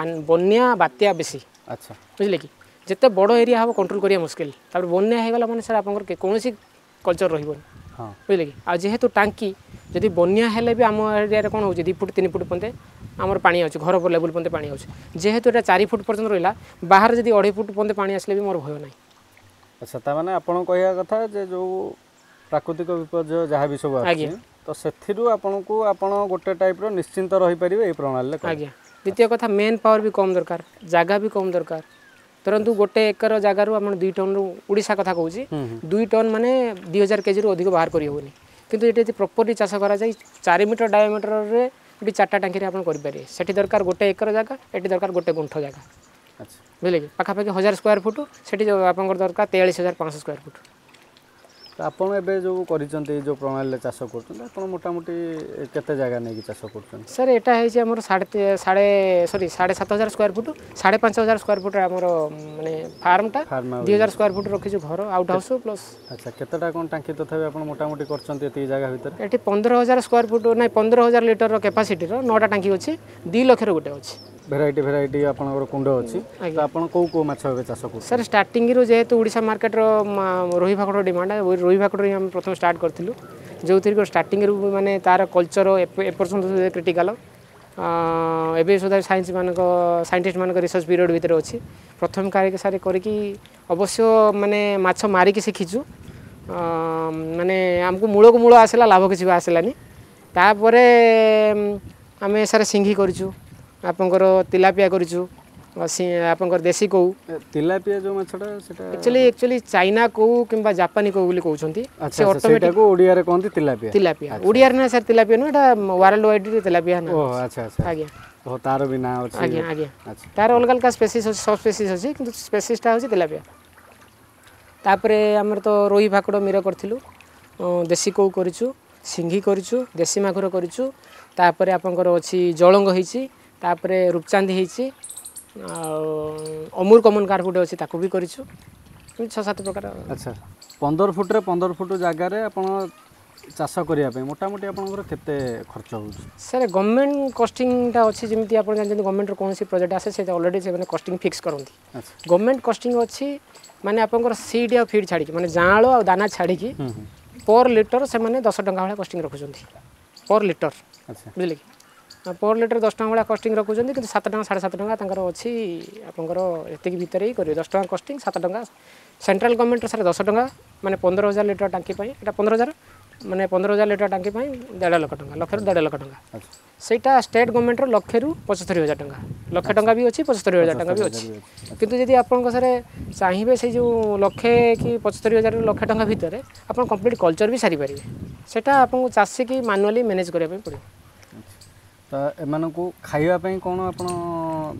ବନ୍ୟା ବାତ୍ୟା ବେଶୀ ଆଚ୍ଛା ବୁଝିଲେ କି ଯେତେ ବଡ଼ ଏରିଆ ହେବ କଣ୍ଟ୍ରୋଲ କରିବା ମୁସ୍କିଲ ତାପରେ ବନ୍ୟା ହେଇଗଲା ମାନେ ସାର୍ ଆପଣଙ୍କର କୌଣସି କଲଚର ରହିବନି ବୁଝିଲେ କି ଆଉ ଯେହେତୁ ଟାଙ୍କି ଯଦି ବନ୍ୟା ହେଲେ ବି ଆମ ଏରିଆରେ କ'ଣ ହେଉଛି ଦୁଇ ଫୁଟ ତିନି ଫୁଟ ପର୍ଯ୍ୟନ୍ତ ଆମର ପାଣି ଆସୁଛି ଘର ଲେବୁଲ୍ ପର୍ଯ୍ୟନ୍ତ ପାଣି ଆସୁଛି ଯେହେତୁ ଏଇଟା ଚାରି ଫୁଟ ପର୍ଯ୍ୟନ୍ତ ରହିଲା ବାହାରେ ଯଦି ଅଢ଼େଇ ଫୁଟ ପର୍ଯ୍ୟନ୍ତ ପାଣି ଆସିଲେ ବି ମୋର ଭୟ ନାହିଁ ଆଚ୍ଛା ତାମାନେ ଆପଣ କହିବା କଥା ଯେ ଯେଉଁ ପ୍ରାକୃତିକ ବିପର୍ଯ୍ୟୟ ଯାହା ବି ସବୁ ଆସୁଛି ତ ସେଥିରୁ ଆପଣଙ୍କୁ ଆପଣ ଗୋଟେ ଟାଇପ୍ର ନିଶ୍ଚିନ୍ତ ରହିପାରିବେ ଏଇ ପ୍ରଣାଳୀରେ ଆଜ୍ଞା ଦ୍ୱିତୀୟ କଥା ମେନ୍ ପାୱାର ବି କମ୍ ଦରକାର ଜାଗା ବି କମ୍ ଦରକାର ଧରନ୍ତୁ ଗୋଟେ ଏକର ଜାଗାରୁ ଆପଣ ଦୁଇ ଟନ୍ରୁ ଓଡ଼ିଶା କଥା କହୁଛି ଦୁଇ ଟନ୍ ମାନେ ଦୁଇ ହଜାର କେଜିରୁ ଅଧିକ ବାହାର କରିହେବନି କିନ୍ତୁ ଏଠି ଯଦି ପ୍ରପରଲି ଚାଷ କରାଯାଏ ଚାରି ମିଟର ଡାଇମିଟରରେ ବି ଚାରିଟା ଟାଙ୍କିରେ ଆପଣ କରିପାରିବେ ସେଠି ଦରକାର ଗୋଟେ ଏକର ଜାଗା ଏଠି ଦରକାର ଗୋଟେ ଗୁଣ୍ଠ ଜାଗା ବୁଝିଲେ କି ପାଖାପାଖି ହଜାର ସ୍କୋୟାର ଫୁଟ ସେଠି ଆପଣଙ୍କର ଦରକାର ତେୟାଳିଶ ହଜାର ପାଞ୍ଚଶହ ସ୍କୋୟାର ଫୁଟ ତ ଆପଣ ଏବେ ଯେଉଁ କରିଛନ୍ତି ଏଇ ଯେଉଁ ପ୍ରଣାଳୀରେ ଚାଷ କରୁଛନ୍ତି ଆପଣ ମୋଟାମୋଟି କେତେ ଜାଗା ନେଇକି ଚାଷ କରୁଛନ୍ତି ସାର୍ ଏଇଟା ହେଇଛି ଆମର ସାଢ଼େ ସାଢ଼େ ସରି ସାଢ଼େ ସାତ ହଜାର ସ୍କୋୟାର ଫୁଟ ସାଢ଼େ ପାଞ୍ଚ ହଜାର ସ୍କୋୟାର ଫୁଟ ଆମର ମାନେ ଫାର୍ମଟା ଦୁଇ ହଜାର ସ୍କୋୟାର ଫୁଟ ରଖିଛୁ ଘର ଆଉଟ୍ ହାଉସ୍ ପ୍ଲସ୍ ଆଚ୍ଛା କେତେଟା କ'ଣ ଟାଙ୍କି ତଥାପି ଆପଣ ମୋଟାମୋଟି କରିଛନ୍ତି ଏତିକି ଜାଗା ଭିତରେ ଏଠି ପନ୍ଦର ହଜାର ସ୍କୋୟାର ଫୁଟ ନାଇଁ ପନ୍ଦର ହଜାର ଲିଟରର କାପାସିଟିର ନଅଟା ଟାଙ୍କି ଅଛି ଦୁଇ ଲକ୍ଷର ଗୋଟେ ଅଛି ଭେରାଇଟି ଭେରାଇଟି ଆପଣଙ୍କର କୁଣ୍ଡ ଅଛି ତ ଆପଣ କେଉଁ କେଉଁ ମାଛ ଏବେ ଚାଷ କରୁଛନ୍ତି ସାର୍ ଷ୍ଟାର୍ଟିଂରୁ ଯେହେତୁ ଓଡ଼ିଶା ମାର୍କେଟର ରୋହି ଭାକୁର ଡିମାଣ୍ଡ ରୋହି ଭାକୁର ହିଁ ଆମେ ପ୍ରଥମେ ଷ୍ଟାର୍ଟ କରିଥିଲୁ ଯେଉଁଥିରେ କି ଷ୍ଟାର୍ଟିଂରୁ ମାନେ ତାର କଲଚର ଏପର୍ଯ୍ୟନ୍ତ କ୍ରିଟିକାଲ ଏବେ ସୁଦ୍ଧା ସାଇନ୍ସ ମାନଙ୍କ ସାଇଣ୍ଟିଷ୍ଟ ମାନଙ୍କ ରିସର୍ଚ୍ଚ ପିରିୟଡ଼ ଭିତରେ ଅଛି ପ୍ରଥମ କାର୍ଯ୍ୟ ସାର୍ କରିକି ଅବଶ୍ୟ ମାନେ ମାଛ ମାରିକି ଶିଖିଛୁ ମାନେ ଆମକୁ ମୂଳକୁ ମୂଳ ଆସିଲା ଲାଭ କିଛି ବି ଆସିଲାନି ତାପରେ ଆମେ ସାର୍ ସିଙ୍ଘି କରିଛୁ ଆପଣଙ୍କର ତିଲାପିଆ କରିଛୁ ଆପଣଙ୍କର ଦେଶୀ କଉ ତିଲାପିଆ ଯେଉଁ ମାଛଟା ସେଟା ଆକ୍ଚୁଆଲି ଆକ୍ଚୁଆଲି ଚାଇନା କଉ କିମ୍ବା ଜାପାନୀ କଉ ବୋଲି କହୁଛନ୍ତି ସେ ଅଟୋମେଟିକ୍ ଓଡ଼ିଆରେ କହନ୍ତି ତିଲାପିଆ ତିଲାପିଆ ଓଡ଼ିଆରେ ନା ସାର୍ ତିଲାପିଆ ନୁହେଁ ଏଟା ୱାର୍ଲଡ ୱାଇଡରେ ତିଲାପିଆ ନା ଆଚ୍ଛା ଆଚ୍ଛା ଆଜ୍ଞା ଓ ତାର ବି ନାଁ ଅଛି ଆଜ୍ଞା ଆଜ୍ଞା ତାର ଅଲଗା ଅଲଗା ସ୍ପେସିସ୍ ଅଛି ସବ୍ ସ୍ପେସିସ୍ ଅଛି କିନ୍ତୁ ସ୍ପେସିସ୍ଟା ହେଉଛି ତିଲାପିଆ ତାପରେ ଆମର ତ ରୋହି ଭାକୁଡ଼ ମିର କରିଥିଲୁ ଦେଶୀ କଉ କରିଛୁ ସିଙ୍ଘି କରିଛୁ ଦେଶୀ ମାଗୁର କରିଛୁ ତାପରେ ଆପଣଙ୍କର ଅଛି ଜଳଙ୍ଗ ହେଇଛି ତାପରେ ରୂପଚାନ୍ଦି ହେଇଛି ଆଉ ଅମୁର କମନ କାର୍ପ ଗୋଟେ ଅଛି ତାକୁ ବି କରିଛୁ ଛଅ ସାତ ପ୍ରକାର ଆଚ୍ଛା ପନ୍ଦର ଫୁଟରେ ପନ୍ଦର ଫୁଟ ଜାଗାରେ ଆପଣ ଚାଷ କରିବା ପାଇଁ ମୋଟାମୋଟି ଆପଣଙ୍କର କେତେ ଖର୍ଚ୍ଚ ହେଉଛି ସାର୍ ଗଭର୍ଣ୍ଣମେଣ୍ଟ କଷ୍ଟିଂଟା ଅଛି ଯେମିତି ଆପଣ ଜାଣିଛନ୍ତି ଗଭର୍ଣ୍ଣମେଣ୍ଟର କୌଣସି ପ୍ରୋଜେକ୍ଟ ଆସେ ସେ ଅଲରେଡ଼ି ସେମାନେ କଷ୍ଟିଂ ଫିକ୍ସ କରନ୍ତି ଗଭର୍ଣ୍ଣମେଣ୍ଟ କଷ୍ଟିଂ ଅଛି ମାନେ ଆପଣଙ୍କର ସିଡ୍ ଆଉ ଫିଡ୍ ଛାଡ଼ିକି ମାନେ ଜାଆଁଳ ଆଉ ଦାନା ଛାଡ଼ିକି ପର୍ ଲିଟର ସେମାନେ ଦଶ ଟଙ୍କା ଭଳିଆ କଷ୍ଟିଂ ରଖୁଛନ୍ତି ପର୍ ଲିଟର ବୁଝିଲେ କି ପର୍ ଲିଟର ଦଶ ଟଙ୍କା ଭଳିଆ କଷ୍ଟିଂ ରଖୁଛନ୍ତି କିନ୍ତୁ ସାତ ଟଙ୍କା ସାଢ଼େ ସାତ ଟଙ୍କା ତାଙ୍କର ଅଛି ଆପଣଙ୍କର ଏତିକି ଭିତରେ ହିଁ କରିବେ ଦଶ ଟଙ୍କା କଷ୍ଟିଂ ସାତ ଟଙ୍କା ସେଣ୍ଟ୍ରାଲ ଗଭର୍ଣ୍ଣମେଣ୍ଟର ସାର୍ ଦଶ ଟଙ୍କା ମାନେ ପନ୍ଦର ହଜାର ଲିଟର ଟାଙ୍କି ପାଇଁ ଏଇଟା ପନ୍ଦର ହଜାର ମାନେ ପନ୍ଦର ହଜାର ଲିଟର ଟାଙ୍କି ପାଇଁ ଦେଢ଼ ଲକ୍ଷ ଟଙ୍କା ଲକ୍ଷରୁ ଦେଢ଼ ଲକ୍ଷ ଟଙ୍କା ସେଇଟା ଷ୍ଟେଟ୍ ଗଭର୍ଣ୍ଣମେଣ୍ଟର ଲକ୍ଷରୁ ପଞ୍ଚସ୍ତରୀ ହଜାର ଟଙ୍କା ଲକ୍ଷେ ଟଙ୍କା ବି ଅଛି ପଞ୍ଚସ୍ତରୀ ହଜାର ଟଙ୍କା ବି ଅଛି କିନ୍ତୁ ଯଦି ଆପଣଙ୍କ ସାର୍ ଚାହିଁବେ ସେଇ ଯେଉଁ ଲକ୍ଷେ କି ପଞ୍ଚସ୍ତରୀ ହଜାରରୁ ଲକ୍ଷେ ଟଙ୍କା ଭିତରେ ଆପଣ କମ୍ପ୍ଲିଟ୍ କଲଚର ବି ସାରିପାରିବେ ସେଇଟା ଆପଣଙ୍କୁ ଚାଷୀକି ମାନୁଆଲି ମ୍ୟାନେଜ୍ କରିବା ପାଇଁ ପଡ଼ିବ ତ ଏମାନଙ୍କୁ ଖାଇବା ପାଇଁ କ'ଣ ଆପଣ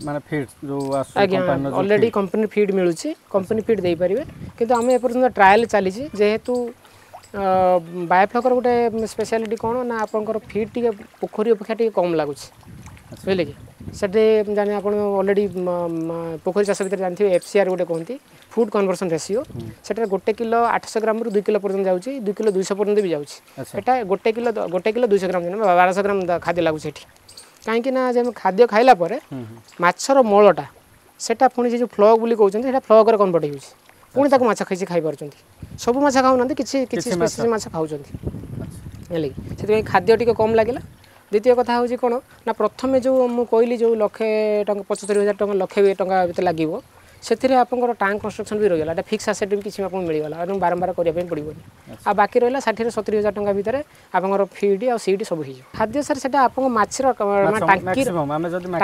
ମାନେ ଫିଡ୍ ଯେଉଁ ଆସୁଛି ଆଜ୍ଞା ଅଲରେଡ଼ି କମ୍ପାନୀ ଫିଡ୍ ମିଳୁଛି କମ୍ପାନୀ ଫିଡ୍ ଦେଇପାରିବେ କିନ୍ତୁ ଆମେ ଏପର୍ଯ୍ୟନ୍ତ ଟ୍ରାଏଲ୍ ଚାଲିଛି ଯେହେତୁ ବାୟୋଫ୍ଲକର ଗୋଟେ ସ୍ପେଶାଲିଟି କ'ଣ ନା ଆପଣଙ୍କର ଫିଡ୍ ଟିକେ ପୋଖରୀ ଅପେକ୍ଷା ଟିକେ କମ୍ ଲାଗୁଛି ବୁଝିଲେ କି ସେଠି ଜାଣି ଆପଣ ଅଲରେଡ଼ି ପୋଖରୀ ଚାଷ ଭିତରେ ଜାଣିଥିବେ ଏଫ୍ ସି ଆର୍ ଗୋଟେ କୁହନ୍ତି ଫୁଡ୍ କନଭର୍ସନ୍ ରେସିଓ ସେଟାରେ ଗୋଟେ କିଲୋ ଆଠଶହ ଗ୍ରାମରୁ ଦୁଇ କିଲୋ ପର୍ଯ୍ୟନ୍ତ ଯାଉଛି ଦୁଇ କିଲୋ ଦୁଇଶହ ପର୍ଯ୍ୟନ୍ତ ବି ଯାଉଛି ଏଟା ଗୋଟେ କିଲୋ ଗୋଟେ କିଲୋ ଦୁଇଶହ ଗ୍ରାମ ବାରଶହ ଗ୍ରାମ ଖାଦ୍ୟ ଲାଗୁଛି ଏଠି କାହିଁକି ନା ଯେ ଖାଦ୍ୟ ଖାଇଲା ପରେ ମାଛର ମଳଟା ସେଟା ପୁଣି ସେ ଯେଉଁ ଫ୍ଲକ୍ ବୋଲି କହୁଛନ୍ତି ସେଇଟା ଫ୍ଲକ୍ରେ କନଭର୍ଟ ହେଉଛି ପୁଣି ତାକୁ ମାଛ କିଛି ଖାଇପାରୁଛନ୍ତି ସବୁ ମାଛ ଖାଉନାହାନ୍ତି କିଛି କିଛି ସ୍ପେସିସ୍ ମାଛ ଖାଉଛନ୍ତି ହେଲା କି ସେଥିପାଇଁ ଖାଦ୍ୟ ଟିକେ କମ୍ ଲାଗିଲା ଦ୍ୱିତୀୟ କଥା ହେଉଛି କ'ଣ ନା ପ୍ରଥମେ ଯେଉଁ ମୁଁ କହିଲି ଯେଉଁ ଲକ୍ଷେ ଟଙ୍କା ପଞ୍ଚସ୍ତରୀ ହଜାର ଟଙ୍କା ଲକ୍ଷେ ଟଙ୍କା ଭିତରେ ଲାଗିବ ସେଥିରେ ଆପଣଙ୍କର ଟ୍ୟାଙ୍କ କନଷ୍ଟ୍ରକ୍ସନ୍ ବି ରହିଗଲା ଏଇଟା ଫିକ୍ସ ଆସେଟ୍ ବି କିଛି ଆପଣଙ୍କୁ ମିଳିଗଲା ଏବଂ ବାରମ୍ବାର କରିବା ପାଇଁ ପଡ଼ିବନି ଆଉ ବାକି ରହିଲା ଷାଠିଏରୁ ସତୁରି ହଜାର ଟଙ୍କା ଭିତରେ ଆପଣଙ୍କର ଫିଡ୍ ଆଉ ସିଡ୍ ସବୁ ହେଇଯିବ ଖାଦ୍ୟ ସାର୍ ସେଟା ଆପଣଙ୍କ ମାଛର ଟାଙ୍କିର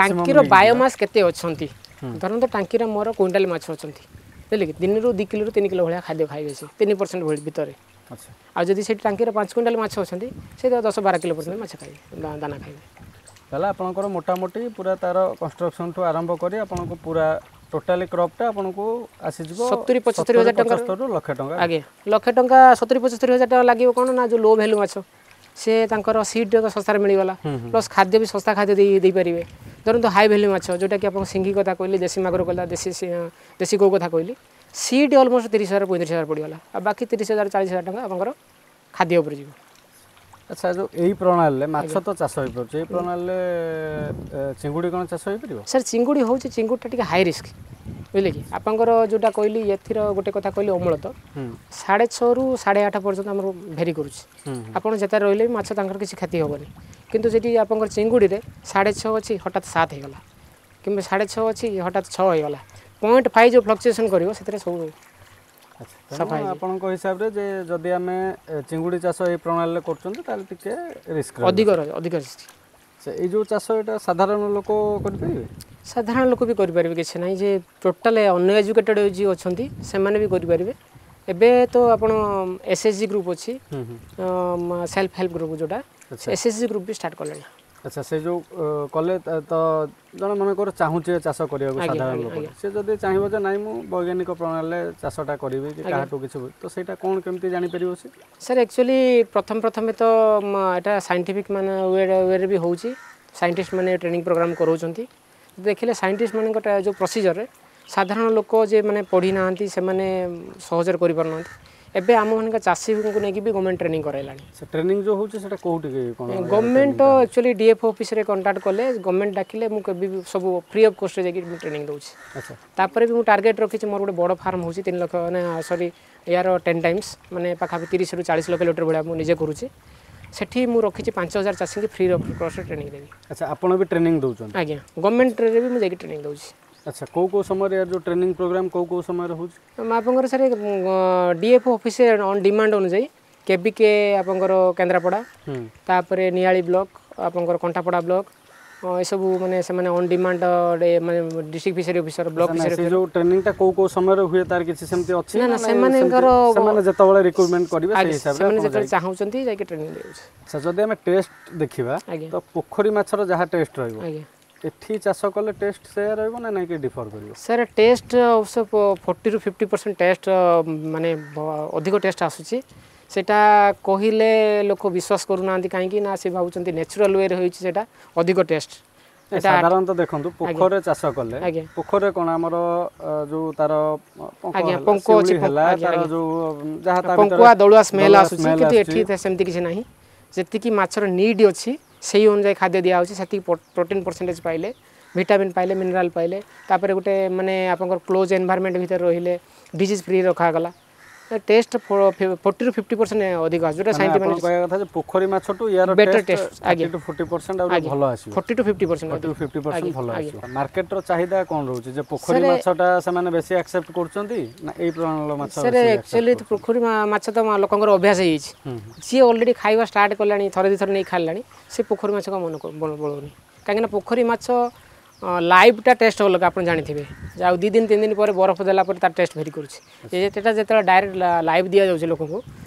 ଟାଙ୍କିର ବାୟୋମାସ୍ କେତେ ଅଛନ୍ତି ଧରନ୍ତୁ ଟାଙ୍କିରେ ମୋର କୁଇଣ୍ଟାଲ ମାଛ ଅଛନ୍ତି ବୁଝିଲେ କି ଦିନରୁ ଦୁଇ କିଲୋରୁ ତିନି କିଲୋ ଭଳିଆ ଖାଦ୍ୟ ଖାଇବେ ସେ ତିନି ପରସେଣ୍ଟ ଭଳି ଭିତରେ ଆଉ ଯଦି ସେଠି ଟାଙ୍କିରେ ପାଞ୍ଚ କୁଇଣ୍ଟାଲ ମାଛ ଅଛନ୍ତି ସେ ଦଶ ବାର କିଲୋ ପର୍ଯ୍ୟନ୍ତ ମାଛ ଖାଇବେ ଦାନା ଖାଇବେ ତାହେଲେ ଆପଣଙ୍କର ମୋଟାମୋଟି ପୁରା ତାର କନଷ୍ଟ୍ରକ୍ସନ୍ଠୁ ଆରମ୍ଭ କରି ଆପଣଙ୍କୁ ପୁରା ଟୋଟାଲି କ୍ରପ୍ଟା ଆପଣଙ୍କୁ ଆସିଯିବ ସତୁରି ପଞ୍ଚସ୍ତରୀ ହଜାର ଟଙ୍କା ଲକ୍ଷେ ଟଙ୍କା ଆଜ୍ଞା ଲକ୍ଷେ ଟଙ୍କା ସତୁରି ପଞ୍ଚସ୍ତରୀ ହଜାର ଟଙ୍କା ଲାଗିବ କ'ଣ ନା ଯେଉଁ ଲୋ ଭ୍ୟାଲୁ ମାଛ ସେ ତାଙ୍କର ସିଡ୍ ଶସ୍ତାରେ ମିଳିଗଲା ପ୍ଲସ୍ ଖାଦ୍ୟ ବି ଶସ୍ତା ଖାଦ୍ୟ ଦେଇ ଦେଇପାରିବେ ଧରନ୍ତୁ ହାଇ ଭ୍ୟାଲୁ ମାଛ ଯେଉଁଟାକି ଆପଣ ସିଙ୍ଗି କଥା କହିଲି ଦେଶୀ ମାଗୁର କହିଲା ଦେଶୀ ଦେଶୀ କଉ କଥା କହିଲି ସିଡ୍ ଅଲମୋଷ୍ଟ ତିରିଶ ହଜାର ପଇଁତିରିଶ ହଜାର ପଡ଼ିଗଲା ଆଉ ବାକି ତିରିଶ ହଜାର ଚାଳିଶ ହଜାର ଟଙ୍କା ଆପଣଙ୍କର ଖାଦ୍ୟ ଉପରେ ଯିବ ଆଚ୍ଛା ଯେଉଁ ଏଇ ପ୍ରଣାଳୀରେ ମାଛ ତ ଚାଷ ହୋଇପାରୁଛି ଏଇ ପ୍ରଣାଳୀରେ ଚିଙ୍ଗୁଡ଼ି କ'ଣ ଚାଷ ହୋଇପାରିବ ସାର୍ ଚିଙ୍ଗୁଡ଼ି ହେଉଛି ଚିଙ୍ଗୁଡ଼ିଟା ଟିକେ ହାଇ ରିସ୍କ ବୁଝିଲେ କି ଆପଣଙ୍କର ଯେଉଁଟା କହିଲି ଏଥିର ଗୋଟେ କଥା କହିଲି ଅମଳ ତ ସାଢ଼େ ଛଅରୁ ସାଢ଼େ ଆଠ ପର୍ଯ୍ୟନ୍ତ ଆମର ଭେରି କରୁଛି ଆପଣ ଯେତେ ରହିଲେ ବି ମାଛ ତାଙ୍କର କିଛି କ୍ଷତି ହେବନି କିନ୍ତୁ ସେଠି ଆପଣଙ୍କର ଚିଙ୍ଗୁଡ଼ିରେ ସାଢ଼େ ଛଅ ଅଛି ହଠାତ୍ ସାତ ହେଇଗଲା କିମ୍ବା ସାଢ଼େ ଛଅ ଅଛି ହଠାତ୍ ଛଅ ହେଇଗଲା ପଏଣ୍ଟ ଫାଇଭ୍ ଯେଉଁ ଫ୍ଲକ୍ଚୁଏସନ୍ କରିବ ସେଥିରେ ସବୁ ଆପଣଙ୍କ ହିସାବରେ ଯେ ଯଦି ଆମେ ଚିଙ୍ଗୁଡ଼ି ଚାଷ ଏଇ ପ୍ରଣାଳୀରେ କରୁଛନ୍ତି ତାହେଲେ ଟିକେ ରିସ୍କ ଅଧିକ ରହିବ ଅଧିକ ରିସ୍କ ଏଇ ଯେଉଁ ଚାଷ ଏଇଟା ସାଧାରଣ ଲୋକ କରିପାରିବେ ସାଧାରଣ ଲୋକ ବି କରିପାରିବେ କିଛି ନାହିଁ ଯେ ଟୋଟାଲ ଅନଏଜୁକେଟେଡ଼ ଯିଏ ଅଛନ୍ତି ସେମାନେ ବି କରିପାରିବେ ଏବେ ତ ଆପଣ ଏସ୍ ଏଚ୍ ଜି ଗ୍ରୁପ୍ ଅଛି ସେଲ୍ଫ ହେଲ୍ପ ଗ୍ରୁପ୍ ଯେଉଁଟା S H G group B start କଲେଣି ଆଚ୍ଛା ସେ ଯେଉଁ କଲେ ତ ଜଣେ ମନେକର ଚାହୁଁଛି ଚାଷ କରିବାକୁ ସାଧାରଣ ଲୋକ ସେ ଯଦି ଚାହିଁବ ଯେ ନାଇଁ ମୁଁ ବୈଜ୍ଞାନିକ ପ୍ରଣାଳୀରେ ଚାଷଟା କରିବି କି କାହାଠୁ କିଛି ତ ସେଇଟା କ'ଣ କେମିତି ଜାଣିପାରିବ ସେ ସାର୍ ଆକ୍ଚୁଆଲି ପ୍ରଥମେ ପ୍ରଥମେ ତ ଏଇଟା ସାଇଣ୍ଟିଫିକ୍ ମାନେ ୱେରେ ବି ହେଉଛି ସାଇଣ୍ଟିଷ୍ଟ ମାନେ ଟ୍ରେନିଂ ପ୍ରୋଗ୍ରାମ୍ କରାଉଛନ୍ତି ଦେଖିଲେ ସାଇଣ୍ଟିଷ୍ଟ ମାନଙ୍କ ଯେଉଁ ପ୍ରୋସିଜରରେ ସାଧାରଣ ଲୋକ ଯେ ମାନେ ପଢ଼ି ନାହାନ୍ତି ସେମାନେ ସହଜରେ କରିପାରୁନାହାନ୍ତି ଏବେ ଆମମାନଙ୍କ ଚାଷୀଙ୍କୁ ନେଇକି ବି ଗଭର୍ଣ୍ଣମେଣ୍ଟ ଟ୍ରେନିଂ କରାଇଲାଣି ସେ ଟ୍ରେନିଂ ଯେଉଁ ହେଉଛି ସେଟା କେଉଁଠି କ'ଣ ଗଭର୍ଣ୍ଣମେଣ୍ଟ ଆକ୍ଚୁଆଲି ଡିଏଫ୍ ଅଫିସରେ କଣ୍ଟାକ୍ଟ କଲେ ଗଭର୍ଣ୍ଣମେଣ୍ଟ ଡାକିଲେ ମୁଁ କେବେ ବି ସବୁ ଫ୍ରି ଅଫ୍ କଷ୍ଟରେ ଯାଇକି ମୁଁ ଟ୍ରେନିଂ ଦେଉଛି ଆଚ୍ଛା ତାପରେ ବି ମୁଁ ଟାର୍ଗେଟ୍ ରଖିଛି ମୋର ଗୋଟେ ବଡ଼ ଫାର୍ମ ହେଉଛି ତିନି ଲକ୍ଷ ମାନେ ସରି ୟାର ଟେନ୍ ଟାଇମ୍ସ ମାନେ ପାଖାପାଖି ତିରିଶରୁ ଚାଳିଶ ଲକ୍ଷ ଲିଟର ଭଳିଆ ମୁଁ ନିଜେ କରୁଛି ସେଠି ମୁଁ ରଖିଛି ପାଞ୍ଚ ହଜାର ଚାଷୀଙ୍କୁ ଫ୍ରି ଅଫ୍ କଷ୍ଟରେ ଟ୍ରେନିଂ ଦେବି ଆଚ୍ଛା ଆପଣ ବି ଟ୍ରେନିଂ ଦେଉଛନ୍ତି ଆଜ୍ଞା ଗଭର୍ଣ୍ଣମେଣ୍ଟରେ ବି ମୁଁ ଯାଇକି ଟ୍ରେନିଂ ଦେଉଛି ଆଚ୍ଛା କେଉଁ କେଉଁ ସମୟରେ ୟାର ଯେଉଁ ଟ୍ରେନିଂ ପ୍ରୋଗ୍ରାମ୍ କେଉଁ କେଉଁ ସମୟରେ ହେଉଛି ଆପଣଙ୍କର sir DF office on demand ଅନୁଯାୟୀ କେବିକେ ଆପଣଙ୍କର କେନ୍ଦ୍ରାପଡ଼ା ତାପରେ ନିଆଳି ବ୍ଲକ ଆପଣଙ୍କର କଣ୍ଟାପଡ଼ା ବ୍ଲକ ଏସବୁ ମାନେ ସେମାନେ ଅନ୍ ଡିମାଣ୍ଡ ମାନେ district fishery officer block fishery ସେ ଯେଉଁ ଟ୍ରେନିଂଟା କେଉଁ କେଉଁ ସମୟରେ ହୁଏ ତାର କିଛି ସେମିତି ଅଛି ନା ନା ସେମାନଙ୍କର ସେମାନେ ଯେତେବେଳେ ରିକ୍ରୁଟମେଣ୍ଟ କରିବେ ସେଇ ହିସାବରେ ସେମାନେ ଯେତେବେଳେ ଚାହୁଁଛନ୍ତି ଯାଇକି ଟ୍ରେନିଂ ଦେଉଛି ଆଚ୍ଛା ଯଦି ଆମେ ଟେଷ୍ଟ ଦେଖିବା ତ ପୋଖରୀ ମାଛର ଯାହା ଟେଷ୍ଟ ରହିବ ଆଜ୍ଞା ଏଠି ଚାଷ କଲେ ଟେଷ୍ଟ ସେୟା ରହିବ ନା ନାଇଁ କି ଡିଫର କରିବ ସାର୍ ଟେଷ୍ଟ ଅବଶ୍ୟ ଫୋର୍ଟିରୁ ଫିଫ୍ଟି ପରସେଣ୍ଟ ଟେଷ୍ଟ ମାନେ ଅଧିକ ଟେଷ୍ଟ ଆସୁଛି ସେଟା କହିଲେ ଲୋକ ବିଶ୍ୱାସ କରୁନାହାନ୍ତି କାହିଁକି ନା ସେ ଭାବୁଛନ୍ତି ନ୍ୟାଚୁରାଲ ୱେରେ ହେଉଛି ସେଟା ଅଧିକ ଟେଷ୍ଟ ସାଧାରଣତଃ ଦେଖନ୍ତୁ ପୋଖରୀରେ ଚାଷ କଲେ ପୋଖରୀରେ କ'ଣ ଆମର ଯୋଉ ତାର ଆଜ୍ଞା ପଙ୍କ ଅଛି ହେଲା ତାର ଯୋଉ ଯାହା ତା ପଙ୍କୁଆ ଦଳୁଆ ସ୍ମେଲ୍ ଆସୁଛି କିନ୍ତୁ ଏଠି ସେମିତି କିଛି ନାହିଁ ଯେତିକି ମାଛର ନିଡ୍ ଅଛି ସେଇ ଅନୁଯାୟୀ ଖାଦ୍ୟ ଦିଆହେଉଛି ସେତିକି ପ୍ରୋଟିନ୍ ପରସେଣ୍ଟେଜ୍ ପାଇଲେ ଭିଟାମିନ୍ ପାଇଲେ ମିନେରାଲ୍ ପାଇଲେ ତାପରେ ଗୋଟେ ମାନେ ଆପଣଙ୍କର କ୍ଲୋଜ୍ ଏନଭାରମେଣ୍ଟ ଭିତରେ ରହିଲେ ଡିଜିଜ୍ ଫ୍ରି ରଖାଗଲା ଟେଷ୍ଟ ଫୋର୍ଟିରୁ ଫିଫ୍ଟି ପରସେଣ୍ଟ ଅଧିକ ଆସୁଛି ଯେଉଁଟା ସାଇଣ୍ଟିଫିକ୍ କହିବା କଥା ଯେ ପୋଖରୀ ମାଛଠୁ ୟାର ବେଟର ଟେଷ୍ଟ ଆଜ୍ଞା ଟୁ ଫୋର୍ଟି ପରସେଣ୍ଟ ଆଉ ଭଲ ଆସିବ forty to fifty percent forty to fifty percent ଭଲ ଆସିବ ମାର୍କେଟର ଚାହିଦା କ'ଣ ରହୁଛି ଯେ ପୋଖରୀ ମାଛଟା ସେମାନେ ବେଶୀ ଆକ୍ସେପ୍ଟ କରୁଛନ୍ତି ନା ଏଇ ପ୍ରଣାଳୀର ମାଛ ସାର୍ ଆକ୍ଚୁଆଲି ପୋଖରୀ ମାଛ ତ ଲୋକଙ୍କର ଅଭ୍ୟାସ ହେଇଯାଇଛି ଯିଏ ଅଲରେଡ଼ି ଖାଇବା ଷ୍ଟାର୍ଟ କଲାଣି ଥରେ ଦୁଇ ଥର ନେଇ ଖାଇଲାଣି ସେ ପୋଖରୀ ମାଛକୁ ମନ ବଳଉନି କାହିଁକିନା ପୋଖରୀ ମାଛ ଲାଇଭ୍ଟା ଟେଷ୍ଟ ଅଲଗା ଆପଣ ଜାଣିଥିବେ ଆଉ ଦୁଇ ଦିନ ତିନି ଦିନ ପରେ ବରଫ ଦେଲା ପରେ ତାର ଟେଷ୍ଟ ଭେରି କରୁଛି ସେଟା ଯେତେବେଳେ ଡାଇରେକ୍ଟ ଲାଇଭ୍ ଦିଆଯାଉଛି ଲୋକଙ୍କୁ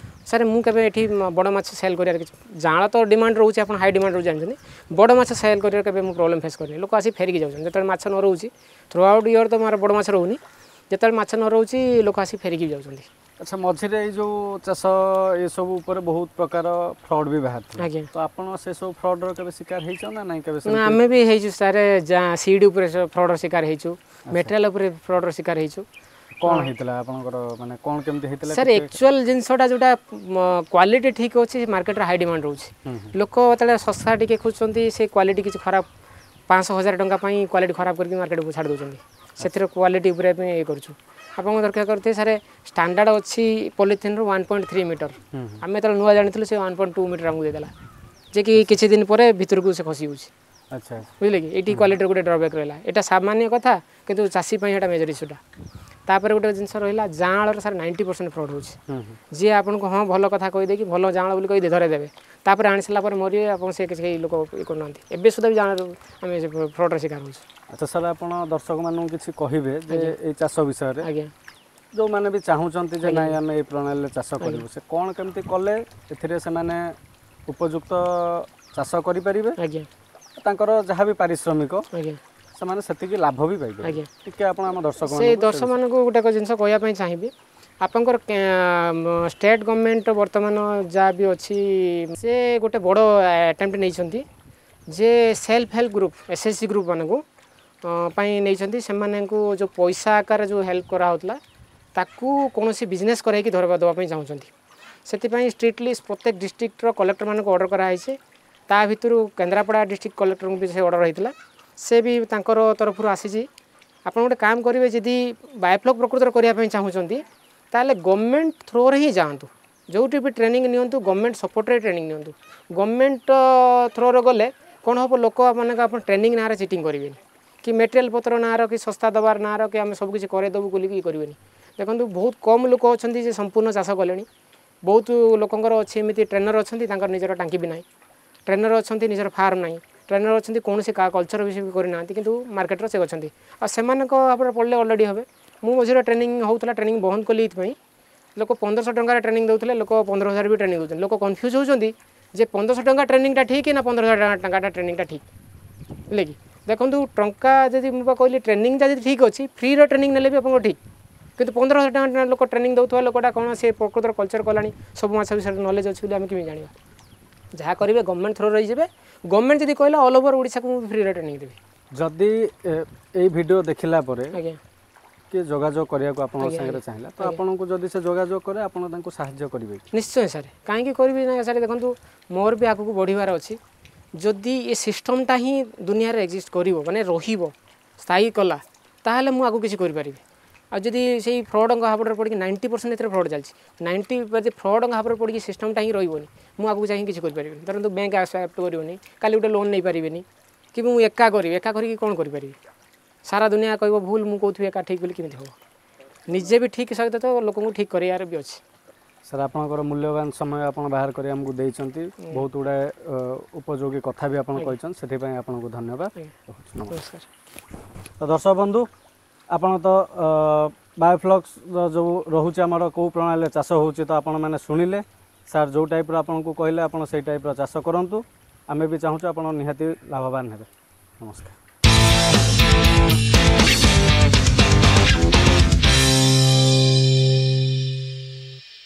ସାର୍ ମୁଁ କେବେ ଏଠି ବଡ଼ ମାଛ ସେଲ୍ କରିବାର କିଛି ଜାଆଁଳ ତ ଡିମାଣ୍ଡ ରହୁଛି ଆପଣ ହାଇ ଡିମାଣ୍ଡ ରହୁଛି ଜାଣିଛନ୍ତି ବଡ଼ ମାଛ ସେଲ୍ କରିବାର କେବେ ମୁଁ ପ୍ରୋବ୍ଲେମ୍ ଫେସ୍ କରିନି ଲୋକ ଆସି ଫେରିକି ଯାଉଛନ୍ତି ଯେତେବେଳେ ମାଛ ନ ରହୁଛି ଥ୍ରୁ ଆଉଟ୍ ଇୟର୍ ତ ମୋର ବଡ଼ ମାଛ ରହୁନି ଯେତେବେଳେ ମାଛ ନ ରହୁଛି ଲୋକ ଆସି ଫେରିକି ଯାଉଛନ୍ତି ଆଚ୍ଛା ମଝିରେ ଏଇ ଯେଉଁ ଚାଷ ଏସବୁ ଉପରେ ବହୁତ ପ୍ରକାର ଫ୍ରଡ୍ ବି ବାହାରିଥିଲା ଆଜ୍ଞା ତ ଆପଣ ସେସବୁ ଫ୍ରଡ୍ର କେବେ ଶିକାର ହେଇଛ ନା ନାଇଁ କେବେ ନା ଆମେ ବି ହେଇଛୁ ସାର୍ ସିଡ୍ ଉପରେ ଫ୍ରଡ୍ର ଶିକାର ହେଇଛୁ ମେଟେରିଆଲ୍ ଉପରେ ଫ୍ରଡ୍ର ଶିକାର ହେଇଛୁ କ'ଣ ହେଇଥିଲା ଆପଣଙ୍କର ମାନେ କ'ଣ କେମିତି ହେଇଥିଲା ସାର୍ ଆକ୍ଚୁଆଲ୍ ଜିନିଷଟା ଯେଉଁଟା କ୍ୱାଲିଟି ଠିକ୍ ଅଛି ମାର୍କେଟରେ ହାଇ ଡିମାଣ୍ଡ ରହୁଛି ଲୋକ ଯେତେବେଳେ ଶସ୍ତା ଟିକେ ଖୋଜୁଛନ୍ତି ସେ କ୍ୱାଲିଟି କିଛି ଖରାପ ପାଞ୍ଚଶହ ହଜାର ଟଙ୍କା ପାଇଁ କ୍ୱାଲିଟି ଖରାପ କରିକି ମାର୍କେଟକୁ ଛାଡ଼ି ଦେଉଛନ୍ତି ସେଥିରେ କ୍ୱାଲିଟି ଉପରେ ଆମେ ଇଏ କରୁଛୁ ଆପଣଙ୍କ ଦରକାର କରିଥିବେ ସାର୍ ଷ୍ଟାଣ୍ଡାର୍ଡ଼ ଅଛି ପଲିଥିନ୍ରୁ ୱାନ୍ ପଏଣ୍ଟ ଥ୍ରୀ ମିଟର ଆମେ ଯେତେବେଳେ ନୂଆ ଜାଣିଥିଲୁ ସେ ୱାନ୍ ପଏଣ୍ଟ ଟୁ ମିଟର ଆମକୁ ଦେଇଦେଲା ଯେ କି କିଛି ଦିନ ପରେ ଭିତରକୁ ସେ ଖସି ଯାଉଛି ଆଚ୍ଛା ବୁଝିଲେ କି ଏଇଠି କ୍ୱାଲିଟିର ଗୋଟେ ଡ୍ରବ୍ୟାକ୍ ରହିଲା ଏଇଟା ସାମାନ୍ୟ କଥା କିନ୍ତୁ ଚାଷୀ ପାଇଁ ଏଇଟା ମେଜର ଇସ୍ୟୁଟା ତାପରେ ଗୋଟେ ଜିନିଷ ରହିଲା ଜାଆଁଳର ସାର୍ ନାଇଣ୍ଟି ପରସେଣ୍ଟ ଫ୍ରଡ଼୍ ହେଉଛି ଯିଏ ଆପଣଙ୍କୁ ହଁ ଭଲ କଥା କହିଦେଇକି ଭଲ ଜାଆଁଳ ବୋଲି କହି ଧରେଇ ଦେବେ ତାପରେ ଆଣି ସାରିଲା ପରେ ମରିବେ ଆପଣ ସେ କିଛି କେହି ଲୋକ ଇଏ କରୁନାହାନ୍ତି ଏବେ ସୁଦ୍ଧା ବି ଜାଆଁଳ ଆମେ ଫ୍ରଡ଼୍ର ଶିକାର ହେଉଛୁ ଆଚ୍ଛା ସାର୍ ଆପଣ ଦର୍ଶକମାନଙ୍କୁ କିଛି କହିବେ ଯେ ଏଇ ଚାଷ ବିଷୟରେ ଆଜ୍ଞା ଯେଉଁମାନେ ବି ଚାହୁଁଛନ୍ତି ଯେ ନାଇଁ ଆମେ ଏଇ ପ୍ରଣାଳୀରେ ଚାଷ କରିବୁ ସେ କ'ଣ କେମିତି କଲେ ଏଥିରେ ସେମାନେ ଉପଯୁକ୍ତ ଚାଷ କରିପାରିବେ ଆଜ୍ଞା ତାଙ୍କର ଯାହା ବି ପାରିଶ୍ରମିକ ଆଜ୍ଞା ସେମାନେ ସେତିକି ଲାଭ ବି ପାଇପାରିବେ ଆଜ୍ଞା ଟିକେ ଆପଣ ଆମ ଦର୍ଶକ ସେ ଦର୍ଶକମାନଙ୍କୁ ଗୋଟେ ଜିନିଷ କହିବା ପାଇଁ ଚାହିଁବି ଆପଣଙ୍କର ଷ୍ଟେଟ୍ ଗଭର୍ଣ୍ଣମେଣ୍ଟ ବର୍ତ୍ତମାନ ଯାହା ବି ଅଛି ସେ ଗୋଟେ ବଡ଼ ଆଟେମ୍ପ୍ଟ ନେଇଛନ୍ତି ଯେ self help group S H G group ମାନଙ୍କୁ ପାଇଁ ନେଇଛନ୍ତି ସେମାନଙ୍କୁ ଯେଉଁ ପଇସା ଆକାରରେ ଯେଉଁ ହେଲ୍ପ କରାହେଉଥିଲା ତାକୁ କୌଣସି ବିଜନେସ୍ କରାଇକି ଧରବା ଦେବା ପାଇଁ ଚାହୁଁଛନ୍ତି ସେଥିପାଇଁ ଷ୍ଟ୍ରିକ୍ଟଲି ପ୍ରତ୍ୟେକ ଡିଷ୍ଟ୍ରିକ୍ଟର କଲେକ୍ଟରମାନଙ୍କୁ ଅର୍ଡ଼ର କରାହେଇଛି ତା ଭିତରୁ କେନ୍ଦ୍ରାପଡ଼ା ଡିଷ୍ଟ୍ରିକ୍ଟ କଲେକ୍ଟରଙ୍କୁ ବି ସେ ଅର୍ଡ଼ର ହେଇଥିଲା ସେ ବି ତାଙ୍କର ତରଫରୁ ଆସିଛି ଆପଣ ଗୋଟେ କାମ କରିବେ ଯଦି ବାୟୋଫ୍ଲକ୍ ପ୍ରକୃତରେ କରିବା ପାଇଁ ଚାହୁଁଛନ୍ତି ତାହେଲେ ଗଭର୍ଣ୍ଣମେଣ୍ଟ ଥ୍ରୋରେ ହିଁ ଯାଆନ୍ତୁ ଯେଉଁଠି ବି ଟ୍ରେନିଂ ନିଅନ୍ତୁ ଗଭର୍ଣ୍ଣମେଣ୍ଟ ସପୋର୍ଟରେ ଟ୍ରେନିଂ ନିଅନ୍ତୁ ଗଭର୍ଣ୍ଣମେଣ୍ଟ ଥ୍ରୋରେ ଗଲେ କ'ଣ ହେବ ଲୋକମାନଙ୍କ ଆପଣ ଟ୍ରେନିଂ ନାଁରେ ଚିଟିଂ କରିବେନି କି ମେଟେରିଆଲ୍ ପତ୍ର ନାଁର କି ଶସ୍ତା ଦେବାର ନାଁର କି ଆମେ ସବୁ କିଛି କରେଇଦେବୁ ବୋଲିକି ଇଏ କରିବେନି ଦେଖନ୍ତୁ ବହୁତ କମ୍ ଲୋକ ଅଛନ୍ତି ଯେ ସମ୍ପୂର୍ଣ୍ଣ ଚାଷ କଲେଣି ବହୁତ ଲୋକଙ୍କର ଅଛି ଏମିତି ଟ୍ରେନର୍ ଅଛନ୍ତି ତାଙ୍କର ନିଜର ଟାଙ୍କି ବି ନାହିଁ ଟ୍ରେନର୍ ଅଛନ୍ତି ନିଜର ଫାର୍ମ ନାହିଁ ଟ୍ରେନର୍ ଅଛନ୍ତି କୌଣସି କଲଚର୍ ବି କରିନାହାନ୍ତି କିନ୍ତୁ ମାର୍କେଟରେ ସେ ଅଛନ୍ତି ଆଉ ସେମାନଙ୍କ ଭାବରେ ପଡ଼ିଲେ ଅଲରେଡ଼ି ହେବେ ମୁଁ ମଝିରେ ଟ୍ରେନିଂ ହେଉଥିଲା ଟ୍ରେନିଂ ବନ୍ଦ କଲି ଏଇଥିପାଇଁ ଲୋକ ପନ୍ଦରଶହ ଟଙ୍କାରେ ଟ୍ରେନିଂ ଦେଉଥିଲେ ଲୋକ ପନ୍ଦର ହଜାର ବି ଟ୍ରେନିଂ ଦେଉଛନ୍ତି ଲୋକ କନଫ୍ୟୁଜ୍ ହେଉଛନ୍ତି ଯେ ପନ୍ଦରଶହ ଟଙ୍କା ଟ୍ରେନିଂଟା ଠିକ୍ ନା ପନ୍ଦର ହଜାର ଟଙ୍କାଟା ଟ୍ରେନିଂଟା ଠିକ୍ ବୁଝିଲେ କି ଦେଖନ୍ତୁ ଟଙ୍କା ଯଦି ମୁଁ ବା କହିଲି ଟ୍ରେନିଂଟା ଯଦି ଠିକ୍ ଅଛି ଫ୍ରିର ଟ୍ରେନିଂ ନେଲେ ବି ଆପଣଙ୍କ ଠିକ୍ କିନ୍ତୁ ପନ୍ଦର ହଜାର ଟଙ୍କା ଲୋକ ଟ୍ରେନିଂ ଦେଉଥିବା ଲୋକଟା କ'ଣ ସେ ପ୍ରକୃତର କଲଚର୍ କଲାଣି ସବୁ ମାଛ ବିଷୟରେ ନଲେଜ୍ ଅଛି ବୋଲି ଆମେ କେମିତି ଜାଣିବା ଯାହା କରିବେ ଗଭର୍ଣ୍ଣମେଣ୍ଟ ଥ୍ରୋ ରହିଯିବେ ଗଭର୍ଣ୍ଣମେଣ୍ଟ ଯଦି କହିଲା ଅଲ୍ ଓଭର ଓଡ଼ିଶାକୁ ମୁଁ ଫ୍ରିରେ ଟ୍ରେନିଂ ଦେବି ଯଦି ଏଇ ଭିଡ଼ିଓ ଦେଖିଲା ପରେ ଆଜ୍ଞା କିଏ ଯୋଗାଯୋଗ କରିବାକୁ ଆପଣଙ୍କ ସାଙ୍ଗରେ ଚାହିଁଲା ତ ଆପଣଙ୍କୁ ଯଦି ସେ ଯୋଗାଯୋଗ କରେ ଆପଣ ତାଙ୍କୁ ସାହାଯ୍ୟ କରିବେ କି ନିଶ୍ଚୟ ସାର୍ କାହିଁକି କରିବି ନା ସାର୍ ଦେଖନ୍ତୁ ମୋର ବି ଆଗକୁ ବଢ଼ିବାର ଅଛି ଯଦି ଏ ସିଷ୍ଟମଟା ହିଁ ଦୁନିଆରେ ଏକ୍ଜିଷ୍ଟ କରିବ ମାନେ ରହିବ ସ୍ଥାୟୀ କଲା ତାହେଲେ ମୁଁ ଆଗକୁ କିଛି କରିପାରିବି ଆଉ ଯଦି ସେଇ ଫ୍ରଡ଼ଙ୍କ ହାବୁଡ଼ରେ ପଡ଼ିକି ନାଇଣ୍ଟି ପରସେଣ୍ଟ ଏଥିରେ ଫ୍ରଡ଼ ଚାଲିଛି ନାଇଣ୍ଟି ଯଦି ଫ୍ରଡ଼ଙ୍କ ହାବୁଡ଼ରେ ପଡ଼ିକି ସିଷ୍ଟମଟା ହିଁ ରହିବନି ମୁଁ ଆଗକୁ ଯାଇକି କିଛି କରିପାରିବିନି ଧରନ୍ତୁ ବ୍ୟାଙ୍କ ଆକ୍ସେପ୍ଟ କରିବନି କାଲି ଗୋଟେ ଲୋନ୍ ନେଇପାରିବେନି କି ମୁଁ ଏକା କରିବି ଏକା କରିକି କ'ଣ କରିପାରିବି ସାରା ଦୁନିଆ କହିବ ଭୁଲ ମୁଁ କହୁଥିବି ଏକା ଠିକ୍ ବୋଲି କେମିତି ହେବ ନିଜେ ବି ଠିକ୍ ସହିତ ତ ଲୋକଙ୍କୁ ଠିକ୍ କରିବାର ବି ଅଛି ସାର୍ ଆପଣଙ୍କର ମୂଲ୍ୟବାନ ସମୟ ଆପଣ ବାହାର କରି ଆମକୁ ଦେଇଛନ୍ତି ବହୁତ ଗୁଡ଼ାଏ ଉପଯୋଗୀ କଥା ବି ଆପଣ କହିଛନ୍ତି ସେଥିପାଇଁ ଆପଣଙ୍କୁ ଧନ୍ୟବାଦ ନମସ୍କାର ତ ଦର୍ଶକ ବନ୍ଧୁ ଆପଣ ତ ବାୟୋଫ୍ଲକ୍ସ ଯେଉଁ ରହୁଛି ଆମର କେଉଁ ପ୍ରଣାଳୀରେ ଚାଷ ହେଉଛି ତ ଆପଣମାନେ ଶୁଣିଲେ ସାର୍ ଯେଉଁ ଟାଇପ୍ର ଆପଣଙ୍କୁ କହିଲେ ଆପଣ ସେଇ ଟାଇପ୍ର ଚାଷ କରନ୍ତୁ ଆମେ ବି ଚାହୁଁଛୁ ଆପଣ ନିହାତି ଲାଭବାନ ହେବେ ନମସ୍କାର।